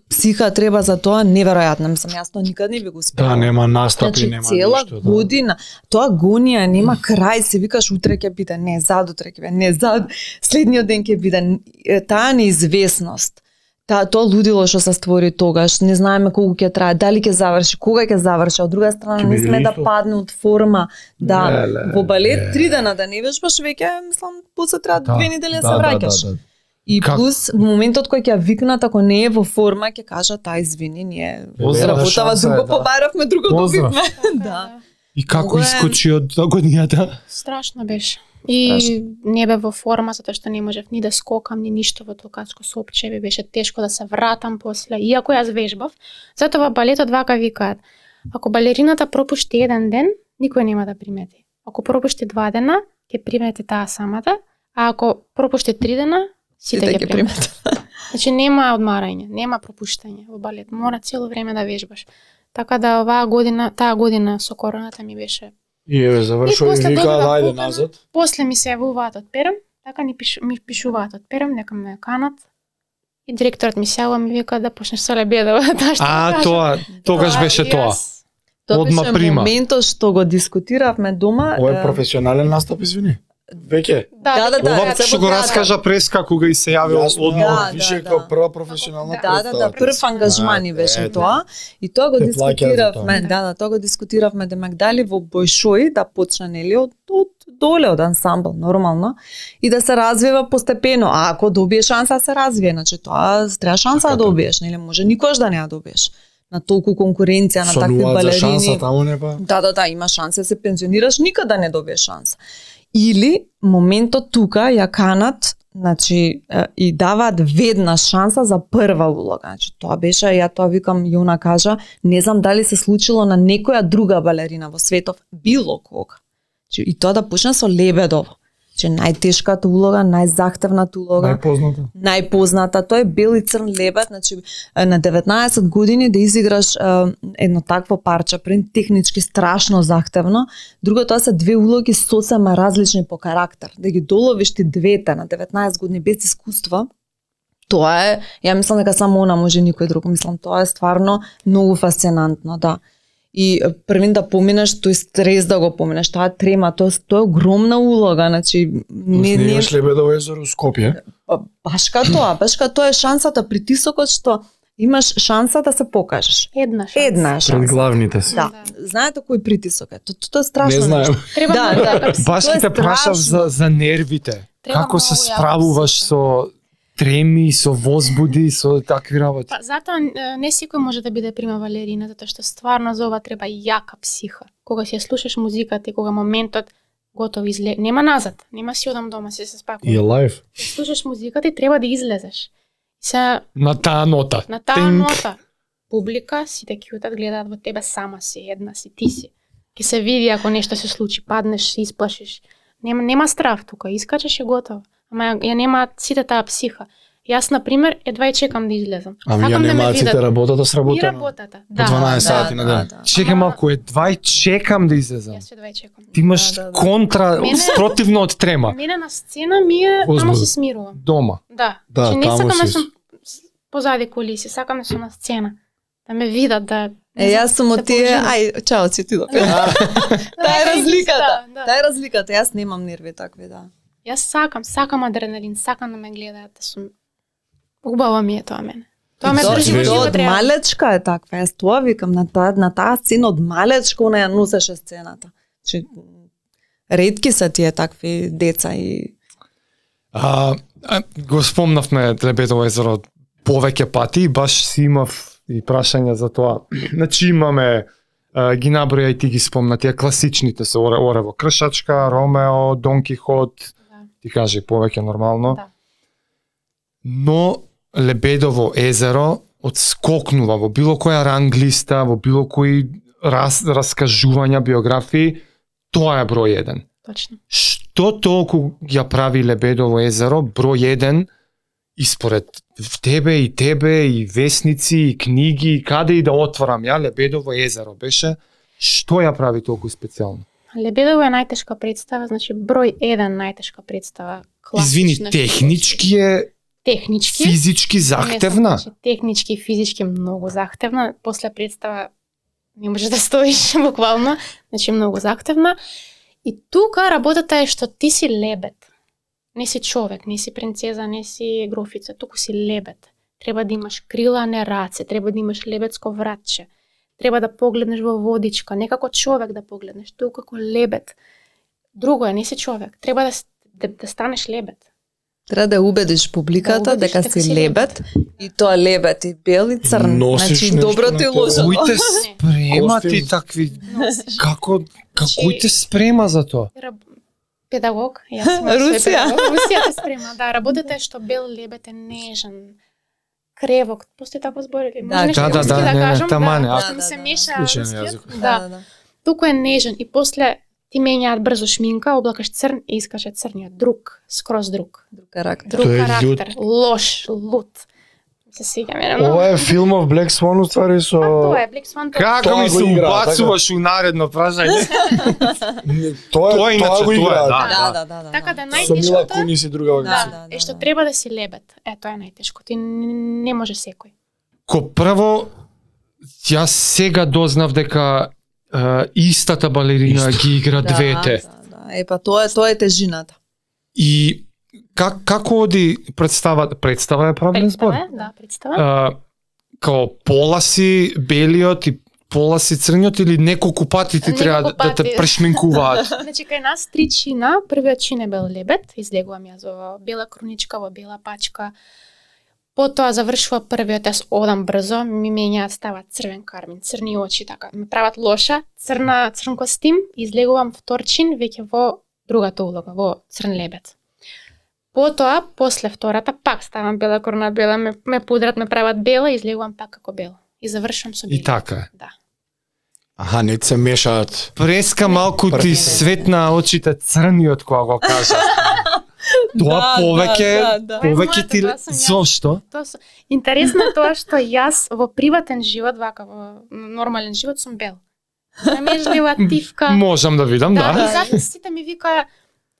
психа треба за тоа неверојатно. Мислам, јас тоа никад не би го успела. Да, нема настапи, Значи, нема цела ништо. Да. година, тоа гонија, нема крај, се викаш утре ќе биде, не, задутре ќе биде, не, следниот ден ќе биде. Таа неизвестност, тоа лудило што се створи тогаш, не знаеме колку ќе трае, дали ќе заврши, кога ќе заврши, од друга страна Ќе не биде сме да исто. падне од форма, да, Леле, во балет 3 дена да не вежбаш веќе, мислам, после треба 2 недели да се враќаш. И Как? плюс, во моментот кој ќе ја викнат, ако не е во форма, ќе кажат, извини, ние Поздрав. работава Шанса е, друго, да. побаравме, друго Поздрав. добивме. Да, Да. да. И како Многу е- искочи од годината? Страшно беше. И не бе во форма затоа што не можев ни да скокам, ни ништо во толкачко сопче, ми беше тешко да се вратам после. Иако јас вежбав, затоа во балетот вака викаат: ако балерината пропушти еден ден, никој нема да примети. Ако пропушти 2 дена, ќе примети таа самата, а ако пропушти 3 дена, сите ќе примети. Значи нема одмарање, нема пропуштање во балет. Мора цело време да вежбаш. Така да таа година со короната ми беше. И еве завршува и после вика добива ајде покана. назад. После ми се јавуваат од Перем, така ми пишуваат од Перем, нека ме канат. И директорот ми се јавува ми вика да почнеш со Лебедова, таа што А, кажа. тоа, тогаш беше И тоа. јас- Тоа Одма беше прима. моментот што го дискутиравме дома. Ова е професионален настап, извини. Веќе. Да, Ова се што во го театар. раскажа преска кога и се јавил Јасно, одмор. Да, више да, како да. прва професионална Да, представа. прв ангажман ни беше Ете. тоа. И тоа го Те плаќаат за дискутиравме, тоа. тоа го дискутиравме демек дали во Бојшој да почне нели од доле од ансамбл нормално и да се развива постепено. А ако добие шанса да се развие, значи тоа треба шанса да добиеш, нели може никош да не ја добиеш. На толку конкуренција на такви Сонуваат за шанса балерини. таму не па. Да, има шанса да се пензионираш, никада не добиеш шанса. Или моментот тука ја канат, значи и даваат веднаш шанса за прва улога. Значи тоа беше, ја тоа викам, Јона кажа, не знам дали се случило на некоја друга балерина во светов, било кога. Значи, и тоа да почне со Лебедов. Значи најтешката улога, најзахтевната улога. Најпозната. Најпозната, тој е бел и црн лебед, значи на 19 години да изиграш едно такво парче, пред технички страшно захтевно, друго тоа се две улоги сосема различни по карактер, да ги доловиш ти двете на 19 години без искуство, тоа е, ја мислам дека само она може, никој друг, мислам тоа е стварно многу фасцинантно, да. И првин да поминеш, тој стрес да го поминеш, таа трема, тоа е огромна улога, значи Не имаш Лебедово езеро Скопје. Баш ка тоа е шансата, притисокот што имаш шанса да се покажеш. Една шанса. Една Пред шанса. главните си. Да. Знаете кој притисок е? Тоа е страшно. Не знаем. нешто. Треба Да, многу да. да се- Баш Тоа е ќе те прашав страшно. за нервите. Треба Како се многу јако справуваш се- со треми, со возбуди, со такви работи? Па затоа не секој може да биде прима балерина, затоа што стварно за ова треба јака психа. Кога си ја слушаш музиката и кога моментот готов нема назад, нема си одам дома, се И спакувам. е лайв. Слушаш музиката и треба да излезеш. Се На таа нота. на таа Тинг. нота. публика, сите кјутат, гледаат во тебе, сама си, една си, ти си. Ке се види ако нешто се случи, паднеш, се исплашиш. Нема страв тука, искачеш и готово. Ама ја немаат сите таа психа. Јас, например, едва и чекам да излезам. Ами ја немаат сите работата И сработена. работата, По 12 сати на ден. Чекам Ама- малку, едва и чекам да излезам. Јас едва и чекам. Ти имаш Да. контра, Мене- спротивно од трема. Мене на сцена ми е, тамо Возбуда. се смирувам. Дома. Да. Да, Че не таму сакам да си. сум позади кулиси, сакам да сум на сцена. Да ме видат, да... Јас сум од да тие, поуживам. ај, чао, си ти да. Таа е разликата. Таа е разликата. Јас немам нерви такви, да. Јас сакам адреналин, сакам да ме гледаат, да сум... Убаво ми е тоа мене. Тоа ме Тоа- држи во тоа живот од реално. малечка е таква. Јас тоа викам на таа сцена од малечка она ја носеше сцената. Че ретки се тие такви деца и Го спомнавме Лебедово езеро повеќе пати и баш си имав и прашања за тоа. Значи имаме ги наброја и ти ги спомна тие класичните се Орево Кршачка, Ромео, Дон Кихот, Да. ти кажи повеќе нормално. Да. Но Лебедово езеро одскокнува во било која ранглиста, во било кои раскажувања, биографии, тоа е број 1. Точно. Што толку ја прави Лебедово езеро број 1 испоред тебе и весници и книги и каде и да отворам ја Лебедово езеро беше, што ја прави толку специјално? Лебедово е најтешка представа, значи број 1 најтешка представа. Извини, класична технички е технички, физички захтевна. Значи, технички и физички многу захтевна. После представа не можеш да стоиш буквално, значи многу захтевна. И тука работата е што ти си лебед. Не си човек, не си принцеза, не си грофица, туку си лебед. Треба да имаш крила, а не раце, треба да имаш лебедско вратче. Треба да погледнеш во водичка, не како човек да погледнеш, туку како лебед. Друго е, не си човек, треба да станеш лебед. треба да убедиш публиката Да убедиш дека дека си си лебед и тоа лебед и бел и црн. Носиш Значи нешто доброто на и тебе. лошото. Кој те спрема Костим. ти такви Носиш. како кој те спрема за тоа? Педагог, јас сум свој Русија. педагог. Русија те спрема, да, работата е што бел лебед е нежен, кревок, постои такво збор или може нешто да, руски да, да не, кажам, тамане, да, а- што ми се да, меша Клучен рускиот. јазик. Да, туку е нежен и после ти менјаат брзо шминка, облакаш црн и искаше црниот, друг, скроз друг. Друг карактер. Друг Тој е карактер, лош, лут. Се сеќам мене многу. Ова е филмов Black Swan уствари со... А тоа е Black Swan. Како Тоа ми го се игра, убацуваш у наредно прашање? Тоа иначе, го тоа е, играат. да. Така да Со Мила најтешкото Кунис и друга да, е што треба да си лебед. Е, тоа е најтешко. Ти не може секој. Ко прво, јас сега дознав дека истата балерина ги игра двете. Да. Епа тоа е тежината. И како оди представа е правилен збор? Представа, да, представа. Као пола си белиот и пола си црниот или неколку пати ти Неколку треба да те пати. прешминкуваат? Значи, кај нас 3 чина, првиот чин е бел лебед, излегувам јас во бела круничка, во бела пачка. Потоа завршува првиот, јас одам брзо, ми менјаат, стават црвен кармин, црни очи, така, ме прават лоша, црн костим, излегувам втор чин, веќе во другата улога, во црн лебед. Потоа, после втората, пак ставам бела круна, бела, ме пудрат, ме прават бела, излегувам пак како бела. И завршувам со бели. И така е. Да. Аха, не се мешаат. Преска малку ти Прв- светна очите црниот кога го кажа. Тоа повеќе ти Тоа сум јас. зошто? Интересно е тоа што јас во приватен живот, вака во нормален живот сум бел. Намежлива, тивка. Можам да видам, Да, да. и затоа сите ми викаа,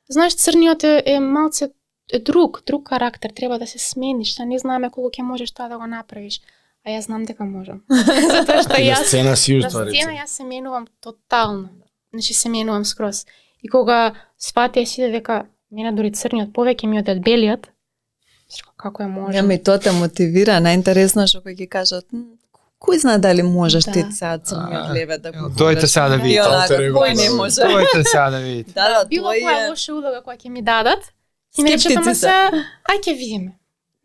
знаеш, црниот е малце друг карактер, треба да се смениш, не знаеме колку ќе можеш тоа да го направиш. А јас знам дека можам. Затоа што И на јас сцена си на уствари. сцена јас се менувам тотално. Значи се менувам скроз. И кога сватија сите дека мене дури црниот повеќе ми од белиот, како е може? Ами тоа те мотивира, најинтересно што кој ги кажат, кој знае дали можеш Да. ти сега црниот лебед да го Дојте сега да И видите. онака, Алтер его. кој не може? Дојте сега да видите. Да, Било тој која е... лоша улога која ќе ми дадат, и ми речат, ама Скептици се, ај ќе видиме.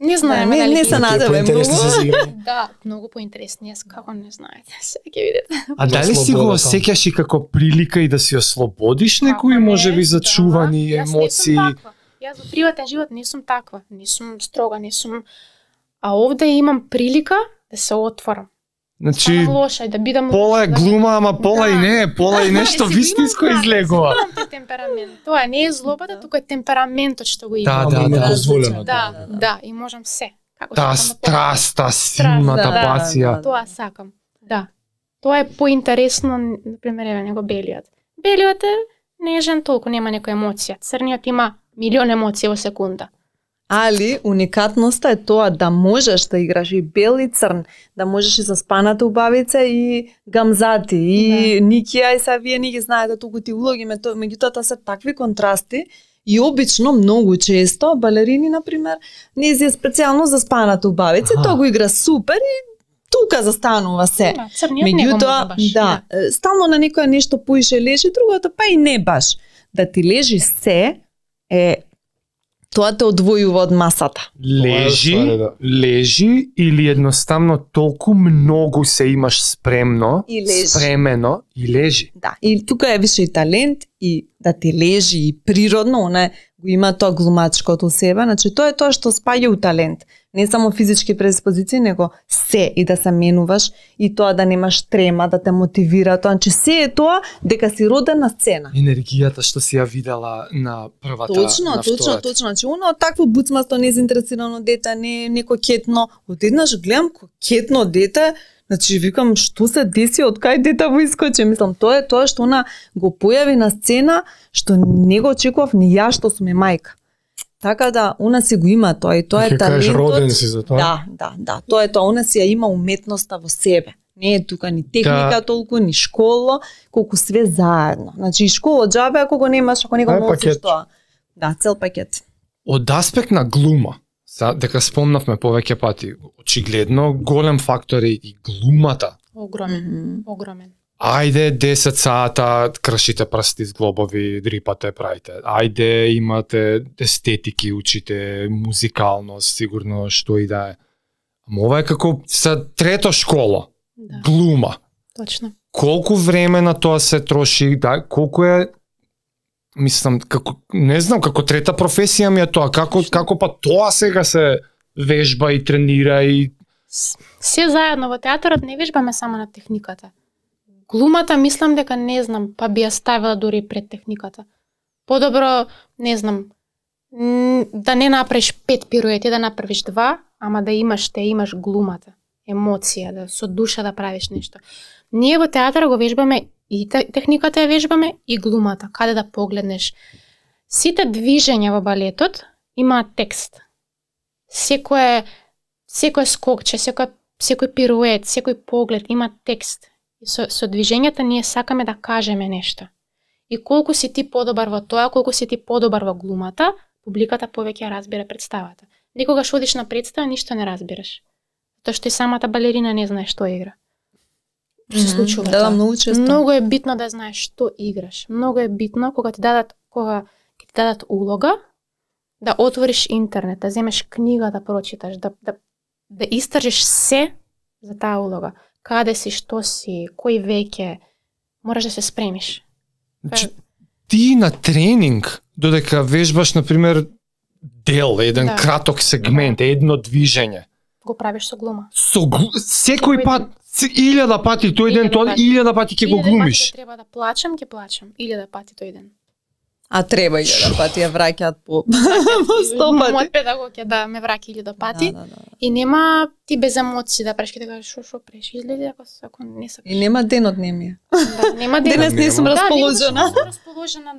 Не знаеме не, дали не ќе се видиме. надеве Поинтересни многу. се за игра. Да, многу поинтересни, јас како не знаете, се ќе видите. А дали си го слободата. осеќаш и како прилика и да си ослободиш некои Како не, можеби зачувани да, емоции? Јас не сум таква. Јас во приватен живот не сум таква, не сум строга, не сум... А овде имам прилика да се отворам. Значи лоша и да бидам пола е глума, ама пола и не е, пола и нешто вистинско излегува. Тоа е темперамент. Тоа не е злобата, туку е темпераментот што го има. Да, дозволено. Да, и можам се. Како Таа страст, таа силната пасија. Тоа сакам. Да. Тоа е поинтересно, например, еве него белиот. Белиот е нежен, толку нема некоја емоција. Црниот има милион емоции во секунда. Али уникатноста е тоа да можеш да играш и бел и црн, да можеш и заспаната убавица и гамзати и Никија и са вие не ги знаете толку ти улоги, меѓутоа се такви контрасти и обично многу често балерини например не е специјално заспаната убавица, тоа го игра супер и тука застанува се. Меѓутоа, да, стално на некоја нешто поише лежи, другото па и не баш. Да ти лежи се е тоа те одвојува од масата. Лежи или едноставно толку многу се имаш спремно, спремено и лежи. Да, и тука е више и талент и да ти лежи и природно, она го има тоа глумачкото себе, значи тоа е тоа што спаѓа у талент. Не само физички предиспозиции, него се и да се менуваш и тоа да немаш трема, да те мотивира, тоа, значи се е тоа дека си роден на сцена. Енергијата што си ја видела на првата, на втората. Точно, значи оно такво буцмасто незаинтересирано дете, не кокетно, одеднаш гледам кокетно дете, значи викам што се деси, од кај дете во искочи, мислам тоа е тоа што она го појави на сцена, што не го очекував ни ја што сум мајка. Така да, она си го има тоа и тоа е талентот. Роден си за тоа. Да, тоа е тоа, она си ја има уметноста во себе. Не е тука ни техника толку, ни школа, колку све заедно. Значи и школа џабе ако го немаш, ако не го носиш тоа. Да, цел пакет. Од аспект на глума, дека спомнавме повеќе пати, очигледно голем фактор е и глумата. Огромен. Ајде 10 сата кршите прсти с глобови, дрипате, правите. Ајде имате естетики, учите музикалност, сигурно што и да е. Ама ова е како са трето школа. Да. Глума. Точно. Колку време на тоа се троши, да, колку е, мислам, како, не знам, како трета професија ми е тоа, како па тоа сега се вежба и тренира и... Се заедно во театарот не вежбаме само на техниката. Глумата мислам дека не знам, па би ја ставила дури пред техниката. Подобро, не знам, да не направиш 5 пируети, да направиш 2, ама да имаш глумата, емоција, да со душа да правиш нешто. Ние во театар го вежбаме и техниката ја вежбаме и глумата, каде да погледнеш. Сите движења во балетот имаат текст. Секој скокче, секој пирует, секој поглед има текст. И со движењата ние сакаме да кажеме нешто. И колку си ти подобар во тоа, колку си ти подобар во глумата, публиката повеќе разбира представата. Некогаш одиш на представа, ништо не разбираш. Тоа што и самата балерина не знае што игра. Се случува тоа. Многу често. Многу е битно да знаеш што играш. Многу е битно кога ти дадат улога, да отвориш интернет, да земеш книга да прочиташ, да истражиш се за таа улога. Каде си, што си, кој веќе, мораш да се спремиш. Ти на тренинг, додека вежбаш, например, дел, еден краток сегмент, едно движење. Го правиш со глума. Секој пат, 1000 пати тој ден, 1000 пати ќе го глумиш. Треба да плачам, ќе плачам. 1000 пати тој ден. А треба 1000 пати ја враќаат по 100 пати. Мојот педагог е да ме враќа 1000 пати. И нема ти без емоции да преш, ќе да кажеш шо преш, изгледа ако не сакаш. И нема денот не ми е. Да, нема денот. Денес не сум расположена. Да, не сум расположена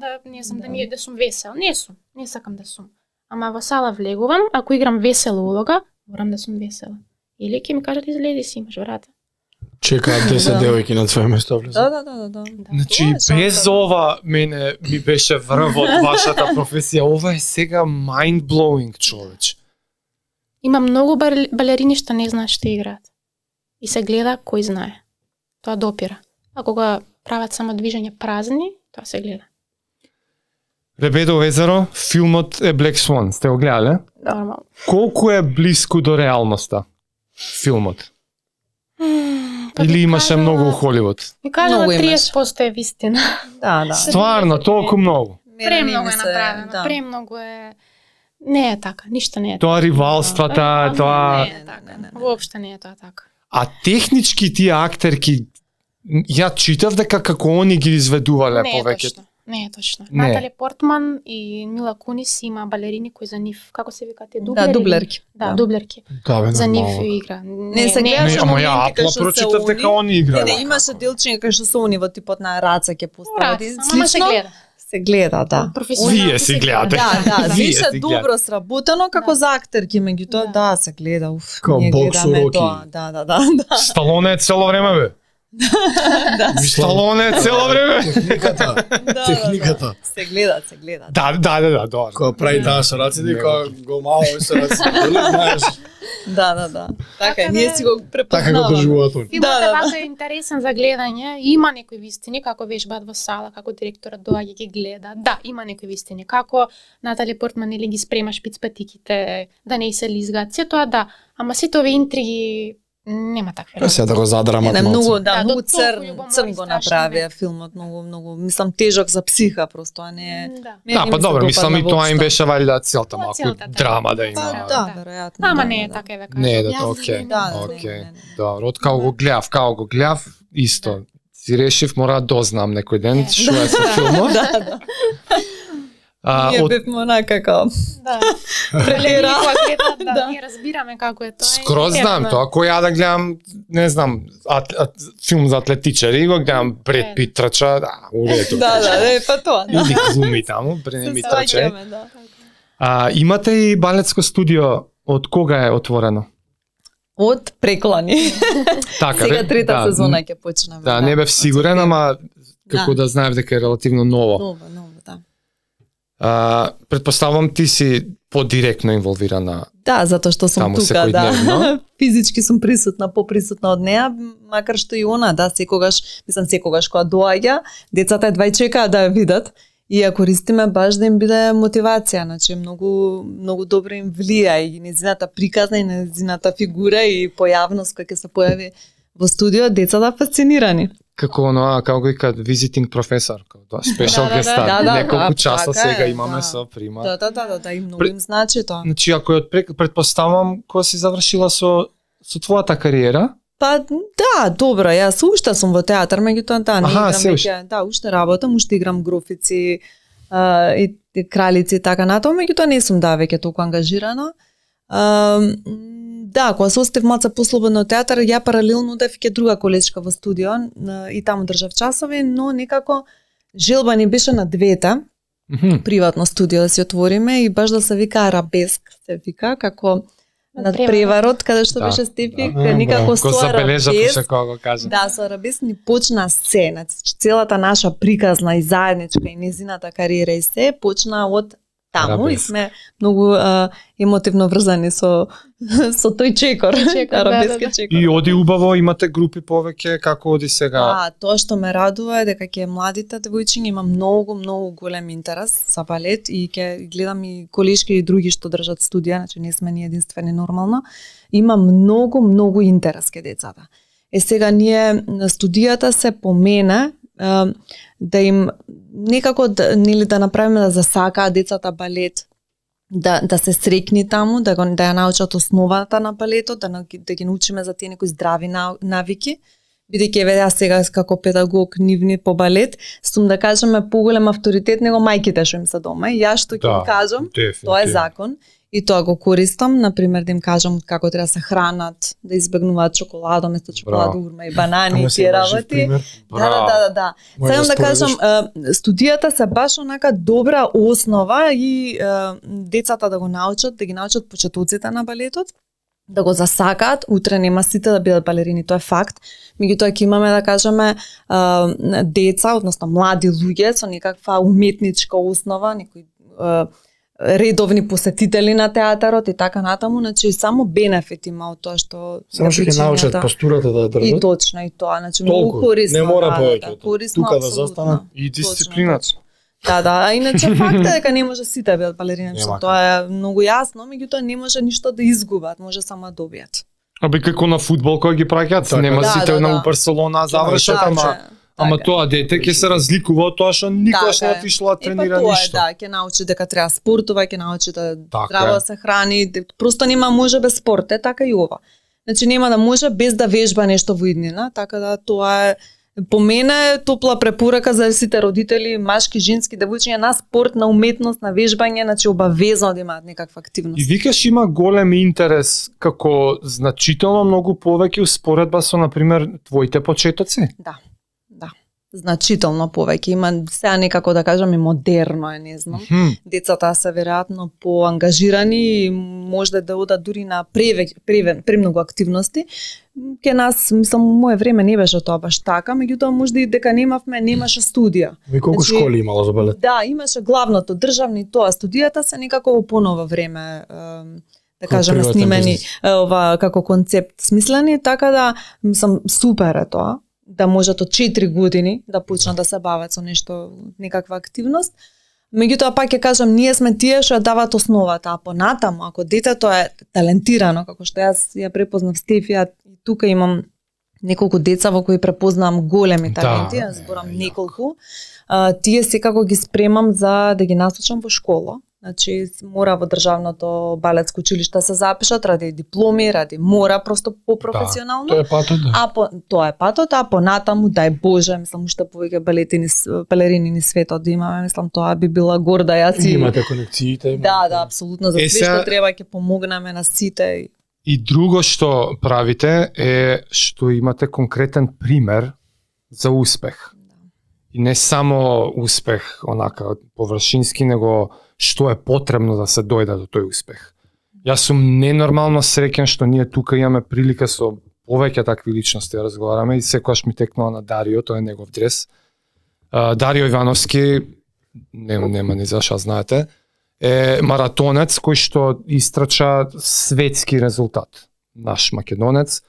да сум весел. Не сакам да сум. Ама во сала влегувам, ако играм весела улога, морам да сум весела. Или ќе ми кажат изледи си, имаш врата. Чекаат 10 девојки на своје место влезат. Да. Значи, без ова мене ми беше врвот вашата професија. Ова е сега mind-blowing, човеч. Има многу балерини што не знаат што играат. И се гледа кој знае. Тоа допира. А кога прават само движења празни, тоа се гледа. Лебедово езеро, филмот е Black Swan. Сте го гледале? Нормално. Колку е блиску до реалноста филмот? Или имаше многу у Холивуд? Ми кажала 30% е вистина. Да. Стварно, толку многу. Премногу е направено, премногу е... Не е така, ништо не е така. Тоа ривалствата, тоа... Не е така, воопшто не е тоа така. А технички тие актерки, ја читав дека како они ги изведувале повеќе. Не е точно. Натали Портман и Мила Кунис има балерини кои за нив, како се викате, дублери? Да, дублерки. Да, дублерки. За нив игра. Не се гледаш ама ја апла прочитав дека они игра. Не, имаше делчиња кај што се они во типот на раца ќе постави. Ама се гледа. Се гледа, да. Вие си гледате. Да, беше добро сработено како за актерки, меѓутоа да, се гледа, уф. Како боксуроки. Да. Сталоне цело време бе. Сталоне цело време. Техниката. Се гледа. Да, добро. Кога прави таа со раците, кога го мало со раците, знаеш. Да. Така, ние си го препознаваме. Така го доживуваат они. Филмот вака е интересен за гледање, има некои вистини, како вежбаат во сала, како директорот доаѓа ги гледа. Да, има некои вистини, како Натали Портман или ги спрема шпицпатиките, да не се лизгаат, се тоа да, ама сите овие интриги нема такви работи. Се да го задрамат Не, многу, Да, многу до толку црн го направија филмот, многу, мислам тежок за психа, просто а не. Да, па добро, мислам и тоа им беше валјда целта малку целта, драма да има. Да, веројатно. Ама не е така да кажам. Не е да Јас окей. Да. Добро, од како го гледав, исто. Си решив мора да дознам некој ден што е со филмот. Да. Ние бевме онака како Да. прелера. Да, ние разбираме како е тоа. Скроз знам тоа, кој ја да гледам, не знам, филм за атлетичари, го гледам Бред Пит трча, да, уредо. Да, па тоа. Или глуми таму, Бред Пит трча. Да. Имате и балетско студио, од кога е отворено? Од преклани. Така, Сега трета сезона ќе почнеме. Да, не бев сигурен, ама како да знаев дека е релативно ново. Ново, да. Предпоставам ти си подиректно инволвирана. Да, затоа што сум тука, да. Физички сум присутна, поприсутна од неа, макар што и она, да, секогаш кога доаѓа, децата едва и чекаат да ја видат. И ја користиме баш да им биде мотивација, значи многу добро им влија и незината приказна и незината фигура и појавност која ќе се појави во студио, децата фасцинирани. Како оноа, како го викаат, visiting професор, тоа спешал гестар. Неколку часа сега имаме со прима. Да, и многу им значи тоа. Значи, ако предпоставам, кога си завршила со твојата кариера? Па да, добро, јас уште сум во театар, меѓутоа да, не играм веќе, да, уште работам, уште играм Грофици и Кралици и така натаму, меѓутоа не сум веќе толку ангажирана. Да, кога се остав малце послободно од театар, ја паралелно одев ке друга колежка во студио и таму држав часови, но некако желба ни беше на двете, приватно студио да си отвориме и баш да се вика Арабеск, се вика, како над преварот, каде што беше Стефик, никако со Арабеск. Да, со Арабеск ни почна се, значи целата наша приказна и заедничка и незината кариера и се почна од таму и сме многу емотивно врзани со тој чекор, арабески чекор. И оди убаво, имате групи повеќе, како оди сега? Да, тоа што ме радува е дека ќе младите девојчиња има многу голем интерес за балет и ќе гледам и колешки и други што држат студија, значи не сме ни единствени нормално. Има многу интерес ке децата. Сега ние студијата се помена да им некако да направиме да засакаат децата балет, да се срекни таму, да ја научат основата на балетот, да ги научиме за тие некои здрави навики, бидејќи еве јас сега како педагог нивни по балет, сум да кажеме поголем авторитет него мајките што им се дома и јас што ќе им кажам, тоа е закон. И тоа го користам, например, да им кажам како треба да се хранат, да избегнуваат чоколадо, место чоколадо, урма и банани и тие работи. Да. Сакам да кажам, студијата се баш онака добра основа и децата да го научат, да ги научат почетоците на балетот, да го засакаат, утре нема сите да бидат балерини, тоа е факт. Меѓутоа ќе имаме да кажеме деца, односно млади луѓе со некаква уметничка основа, некои редовни посетители на театарот и така натаму, значи само бенефит има од тоа што само што ќе научат постурата да држат. И точно и тоа, значи многу корисно. Не мора повеќе. Тука да застанат и дисциплината. Да, а иначе факт е дека не може сите да бидат балерини, што тоа е многу јасно, меѓутоа не може ништо да изгубат, може само да добијат. Абе како на фудбал кој ги праќаат, нема сите на Барселона завршат, ама тоа дете ќе се разликува од тоа што никогаш не отишло да тренира ништо. Да, ќе научи дека треба спортува, ќе научи да здраво се храни, просто нема може без спорт, така и ова. Значи нема да може без да вежба нешто во иднина, така да тоа е по мене топла препорака за сите родители, машки, женски, девојчиња на спорт, на уметност, на вежбање, значи обавезно да имаат некаква активност. И викаш има голем интерес како значително многу повеќе успоредба со, например, твоите почетоци? Да. Значително повеќе. Има сега некако да кажам и модерно е, не знам. Децата се веројатно поангажирани и може да одат дури на премногу активности. Ке нас, мислам, мое време не беше тоа баш така, меѓутоа можда и дека немаше студија. И колку школи имало за балет? Да, имаше главното државни, тоа студијата се некако во понова време да кажеме снимени ова како концепт смислени, така да мислам супер е тоа да можат од 4 години да почнат да се бават со нешто, некаква активност. Меѓутоа пак ќе кажам, ние сме тие што ја дават основата, а понатаму ако детето е талентирано, како што јас ја препознав Стефија, и тука имам неколку деца во кои препознавам големи таленти, ја зборам неколку, тие секако ги спремам за да ги насочам во школа. Значи мора во државното балетско училиште се запишат ради дипломи, ради мора просто попрофесионално. Тоа е патот, да. Тоа е патот, а понатаму дај Боже, мислам уште повеќе балерини ни светот да имаме, мислам тоа би била горда јас и имате конекциите. Да, апсолутно, за све што треба ќе помогнеме на сите. И друго што правите е што имате конкретен пример за успех. И не само успех онака површински, него што е потребно да се дојде до тој успех. Јас сум ненормално среќен што ние тука имаме прилика со повеќе такви личности да разговараме и секогаш ми текнува на Дарио, тој е негов дрес. Дарио Ивановски, нема ни зашто знаете, е маратонец кој што истрача светски резултат. Наш македонец,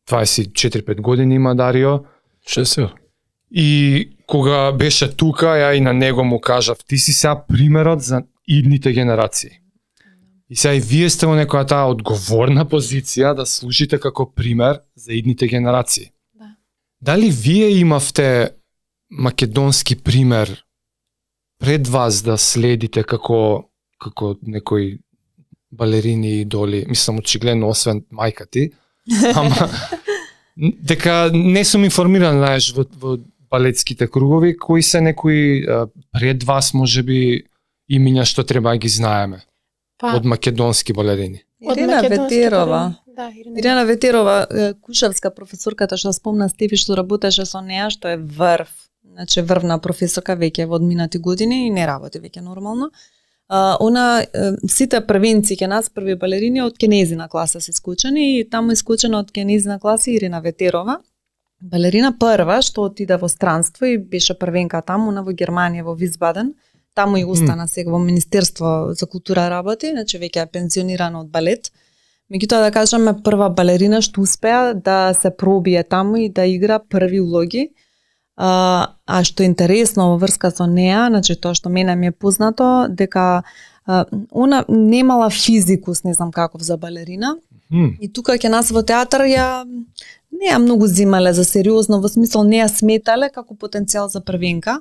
24-5 години има Дарио. И кога беше тука, ја и на него му кажав, ти си сега примерот за идните генерации. И сега и вие сте во некоја таа одговорна позиција да служите како пример за идните генерации. Да. Дали вие имавте македонски пример пред вас да следите како некои балерини идоли, мислам очигледно освен мајка ти, ама дека не сум информиран, знаеш, во балетските кругови, кои се некои пред вас можеби имиња што треба да ги знаеме од македонски балерини? Ирина Ветерова. Да, Ирина Ветерова, кушавска професорката што спомна Стефи што работеше со неа, што е врв, значи врвна професорка веќе во одминати години и не работи веќе нормално. Она сите првенци ке нас први балерини од кенезина класа се исклучени и таму исклучена од кенезина класа Ирина Ветерова. Балерина прва што отиде во странство и беше првенка таму, во Германија, во Висбаден. Таму и остана сега во Министерство за култура работи, значи веќе е пензионирана од балет. Меѓутоа да кажеме прва балерина што успеа да се пробие таму и да игра први улоги. А што е интересно во врска со неа, значи тоа што мене ми е познато, дека она немала физикус, не знам каков за балерина. И тука ќе нас во театар не ја многу зимале за сериозно, во смисол не ја сметале како потенцијал за првенка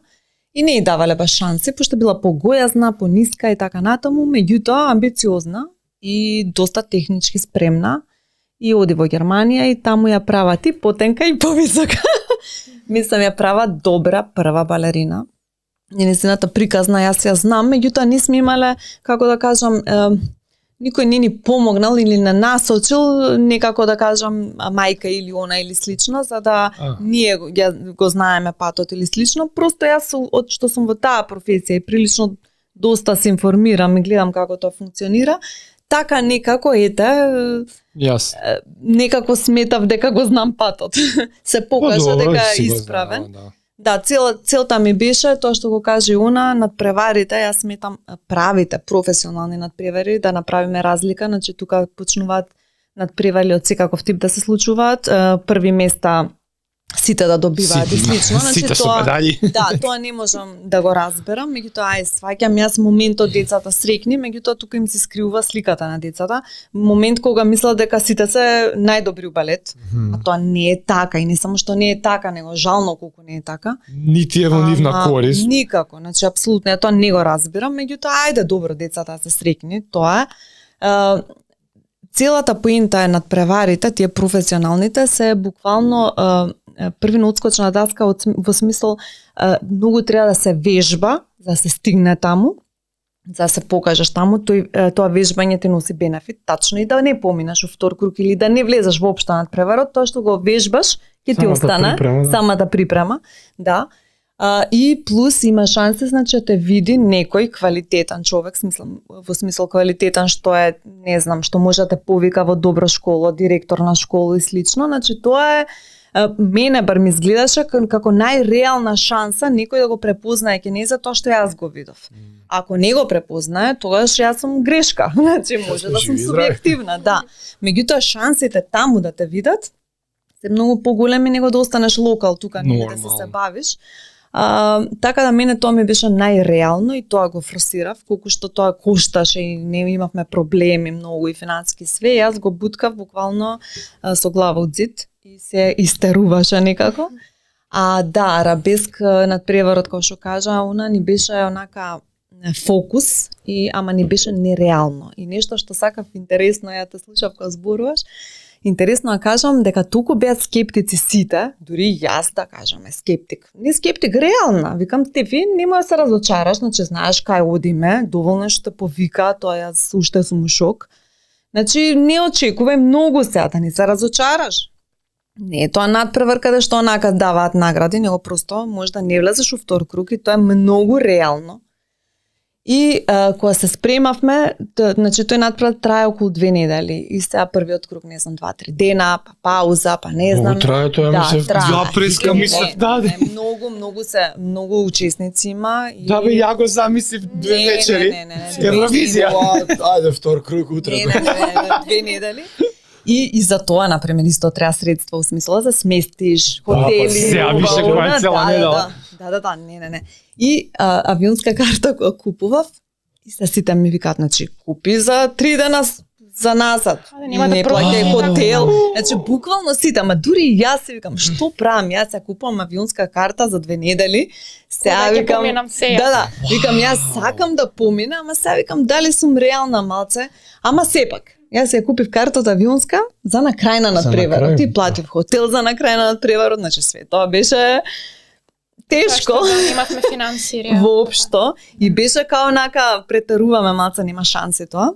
и не ја давале баш шанси, пошто била погојазна, пониска и така натаму, меѓутоа амбициозна и доста технички спремна и оди во Германија и таму ја права ти потенка и повисока. Мислам ја права добра прва балерина. Незината приказна јас ја знам, меѓутоа не сме имале, како да кажам, никој не ни помогнал или не насочил некако да кажам мајка или она или слично, за да ние го знаеме патот или слично. Просто јас од што сум во таа професија и прилично доста се информирам и гледам како тоа функционира, така некако некако сметав дека го знам патот. Се покажа дека е исправен. Да, целта ми беше тоа што го каже она, надпреварите, јас сметам правите професионални надпревари, да направиме разлика, значи тука почнуваат надпревари од секаков тип да се случуваат, први места сите да добиваат и слично, значи тоа тоа не можам да го разберам, меѓутоа сваќам јас моментот децата срекни, меѓутоа тука им се скриува сликата на децата, момент кога мислат дека сите се најдобри у балет, а тоа не е така и не само што не е така, него жално колку не е така. Нити е во нивна корист. Никако, значи апсолутно тоа не го разбирам, меѓутоа ајде добро децата се срекни, тоа е. целата поента е надпреварите, тие професионалните се буквално први на одскочна даска во смисол многу треба да се вежба за да се стигне таму, за да се покажеш таму, тоа вежбање ти носи бенефит, тачно и да не поминаш во втор круг или да не влезеш воопшто над преварот, тоа што го вежбаш ќе ти остане самата припрема, да. И плюс има шанси, значи, те види некој квалитетен човек, во смисол квалитетен што е, не знам, што може да те повика во добра школа, директор на школа и слично, значи тоа е мене бар ми изгледаше како најреална шанса некој да го препознае ке не за тоа што јас го видов. Ако не го препознае, тогаш јас сум грешка, значи може да сум субјективна, да. Меѓутоа шансите таму да те видат се многу поголеми него да останеш локал тука, не да се бавиш. Така да мене тоа ми беше најреално и тоа го форсирав, колку што тоа кошташе и не имавме проблеми многу и финансиски све, јас го буткав буквално со глава од зид и се истеруваше некако. Да, арабеск надпреварот, кој што кажа, она ни беше онака фокус и ама ни беше нереално. И нешто што сакав интересно, ја те слушав кога зборуваш, интересно да кажам дека толку беа скептици сите, дури јас да кажам е скептик. Не скептик, реална. Викам, Стефи, нема да се разочараш, значи знаеш кај одиме, доволно што те повика, тоа јас уште сум у шок. Значи не очекувај многу сега да не се разочараш. Не е тоа надпревар каде што онака даваат награди, него просто може да не влезеш во втор круг и тоа е многу реално. И кога се спремавме, значи тој надпревар трае околу 2 недели и сега првиот круг, не знам, 2-3 дена, па пауза, па не знам. Трае тоа, ја преска мислев, да. Многу учесници има. И... Да бе, ја го замислив 2 вечери. Телевизија. Ајде втор круг утре. Не, 2 недели. И за тоа, например, исто треба средства, во смисла да сместиш, хотели. Сега више која е цела недела. Да, не. И авионска карта која купував, и сите ми викаат, значи, купи за 3 дена за назад. Не плаќај хотел. Значи, буквално сите, ама дури јас се викам, што правам? Јас ја купувам авионска карта за 2 недели. Сега викам, да, викам, јас сакам да поминам, ама сега викам, дали сум реална малце, ама сепак. Јас ја купив картата авионска за на крај на надпреварот и платив хотел за на крај на надпреварот, значи све тоа беше тешко. Да имавме финансири. Воопшто. И беше као онака претеруваме малце, нема шанси тоа.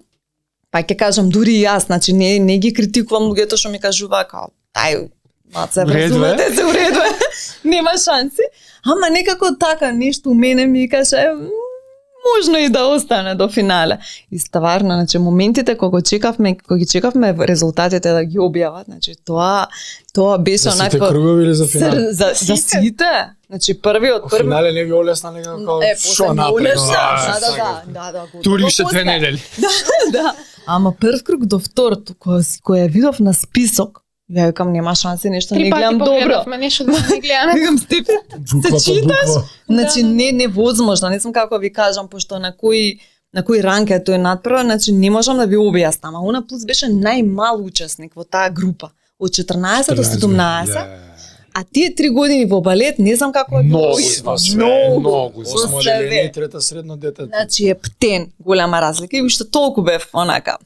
Па ќе кажам, дури јас, значи не ги критикувам луѓето што ми кажува као, ај, малце, вразумете се, уреду е, нема шанси. Ама некако така нешто у мене ми каже, можно и да остане до финале. И стварно, значи моментите кога ги чекавме резултатите да ги објават, значи тоа беше онака. За сите кругови или за финал? За сите. Значи првиот финале не ви олесна некако шо напред. Да. Тури уште 2 недели. Да. Ама прв круг до втор, кој ја видов на список, ја викам нема шанси, нешто не гледам добро. Нешто да не гледам. Викам Стефи, се читаш? Значи невозможно, не знам како ви кажам, пошто на кој ранг е тој надпревар, значи не можам да ви објаснам. Ама она плюс беше најмал учесник во таа група, од 14 до 17. А тие 3 години во балет, не знам како е многу. Осмоделение, трета средно дете. Значи е птен, голема разлика и уште толку бев онака.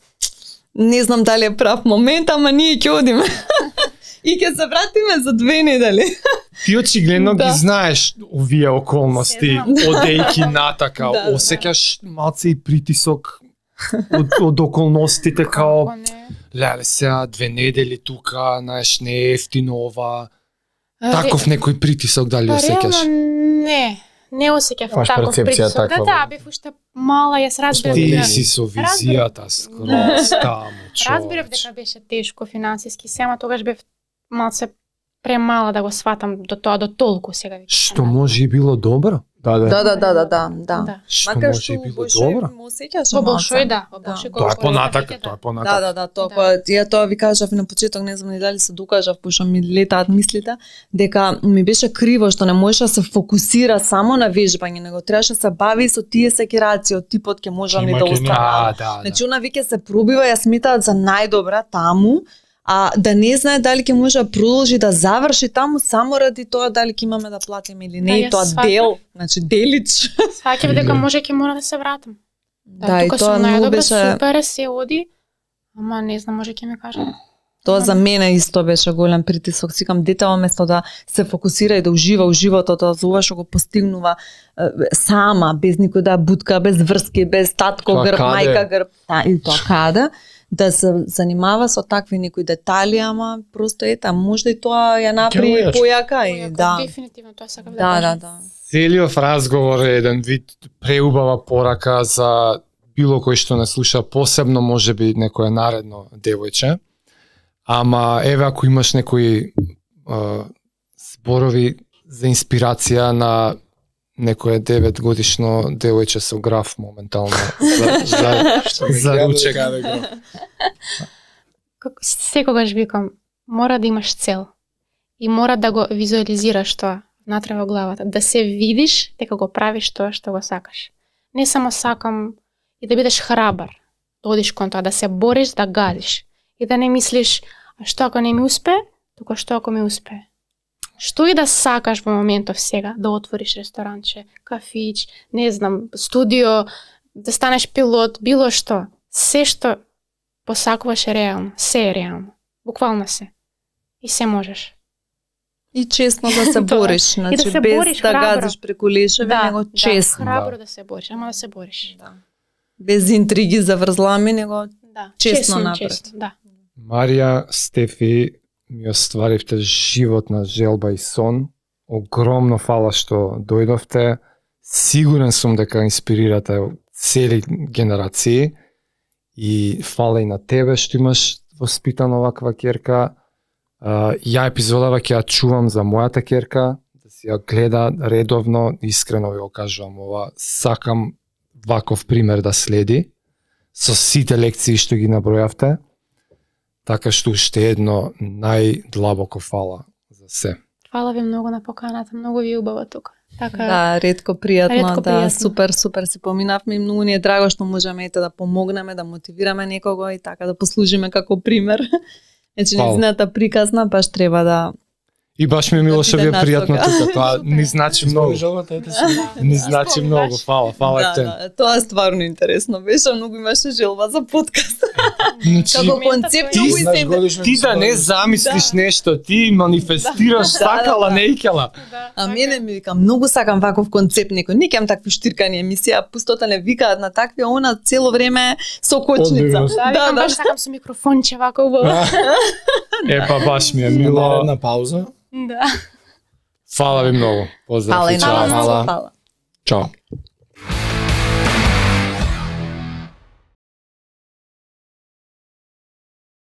Не знам дали е прав момент, ама ние ќе одиме. И ќе се вратиме за 2 недели. Ти очигледно ги знаеш овие околности, одејки натака, осеќаш малце и притисок од околностите као леле сега 2 недели тука, знаеш, не е ефтино ова. Таков некој притисок дали осеќаш? Не осеќав таков притисок. Да, бев уште мала, јас разбирав. Ти си со визијата скроз таму, човече. Разбирав дека беше тешко финансиски, сема тогаш бев малце премала да го сватам до тоа, до толку сега. Што може и било добро? Да. Што може и било добро? Во Болшој, да. Тоа е понатак. Да, тоа ви кажав на почеток, не знам ни дали се докажав, пошто ми летаат мислите, дека ми беше криво што не можеше да се фокусира само на вежбање, него требаше да се бави со тие секираци, од типот ќе можам ли да останам. Значи, она веќе се пробива, ја сметаат за најдобра таму, а да не знае дали ќе може да продолжи да заврши таму само ради тоа дали ќе имаме да платиме или не, и тоа дел, значи делич. Сваќав дека може ќе мора да се вратам. Да, и тоа многу беше супер се оди, Ама не знам, може ќе ми кажа. Тоа за мене исто беше голем притисок. Сикам, детето место да се фокусира и да ужива у животот, за ова што го постигнува сама, без никој да бутка, без врски, без татко Тоа грб, каде? мајка грб, и тоа каде, да се занимава со такви некои детали, ама просто ета, можда и тоа ја направи Ќе појака и да. Дефинитивно тоа сакав да Да, кажам. да. Целиот разговор е еден вид преубава порака за било кој што не слуша, посебно можеби некое наредно девојче. Ама еве ако имаш некои зборови за инспирација на некое 9 годишно девојче со граф моментално за ручек. Секогаш викам, мора да имаш цел и мора да го визуализираш тоа внатре во главата, да се видиш дека го правиш тоа што го сакаш. Не само сакам и да бидеш храбар, да одиш кон тоа, да се бориш, да гадиш и да не мислиш, а што ако не ми успе, туку што ако ми успе. Што и да сакаш во моментов сега, да отвориш ресторанче, кафич, не знам, студио, да станеш пилот, било што, се што посакуваш е реално, се е реално, буквално се. И се можеш. И честно да се бориш, значи се без бориш да храбро. газиш преку лешеви, него честно. Храбро да се бориш, ама да се бориш. Да. Без интриги, заврзлами, него Да. честно напред. Честно, да. Марија, Стефи, ми остваривте животна желба и сон. Огромно фала што дојдовте. Сигурен сум дека инспирирате цели генерации. И фала и на тебе што имаш воспитана оваква ќерка. Ја епизодава ќе ја чувам за мојата ќерка, да си ја гледа редовно, искрено ви го кажувам ова, сакам ваков пример да следи, со сите лекции што ги набројавте, така што уште едно најдлабоко фала за се. Фала ви многу на поканата, многу ви убаво тука. Така, Да, ретко пријатно, Ретко да, пријатно. супер си поминавме и многу ни е драго што можеме ете да помогнеме, да мотивираме некого и така да послужиме како пример. Значи, Фала. неziната приказна баш треба да... И баш ми е мило што ви е биде пријатно насока. тука, тоа ни значи многу. Ни значи многу, фала Да, те. да, тоа е стварно интересно, беше, многу имаше желба за подкаст. Значи, Како концепт, ти многу знаеш, се... годишно ти да не замислиш нешто, ти манифестираш, сакала, не икела. А мене ми вика, многу сакам ваков концепт, некој, не кем такви штиркани емисија, пустота не викаат на такви, а она цело време со кочница. Одбивно. Да, викам, баш сакам со микрофонче вака убаво. Епа баш ми е мило. Наредна пауза. Да. Фала ви многу. Поздрав. Фала и и чао. на вас, Фала. фала. Чао.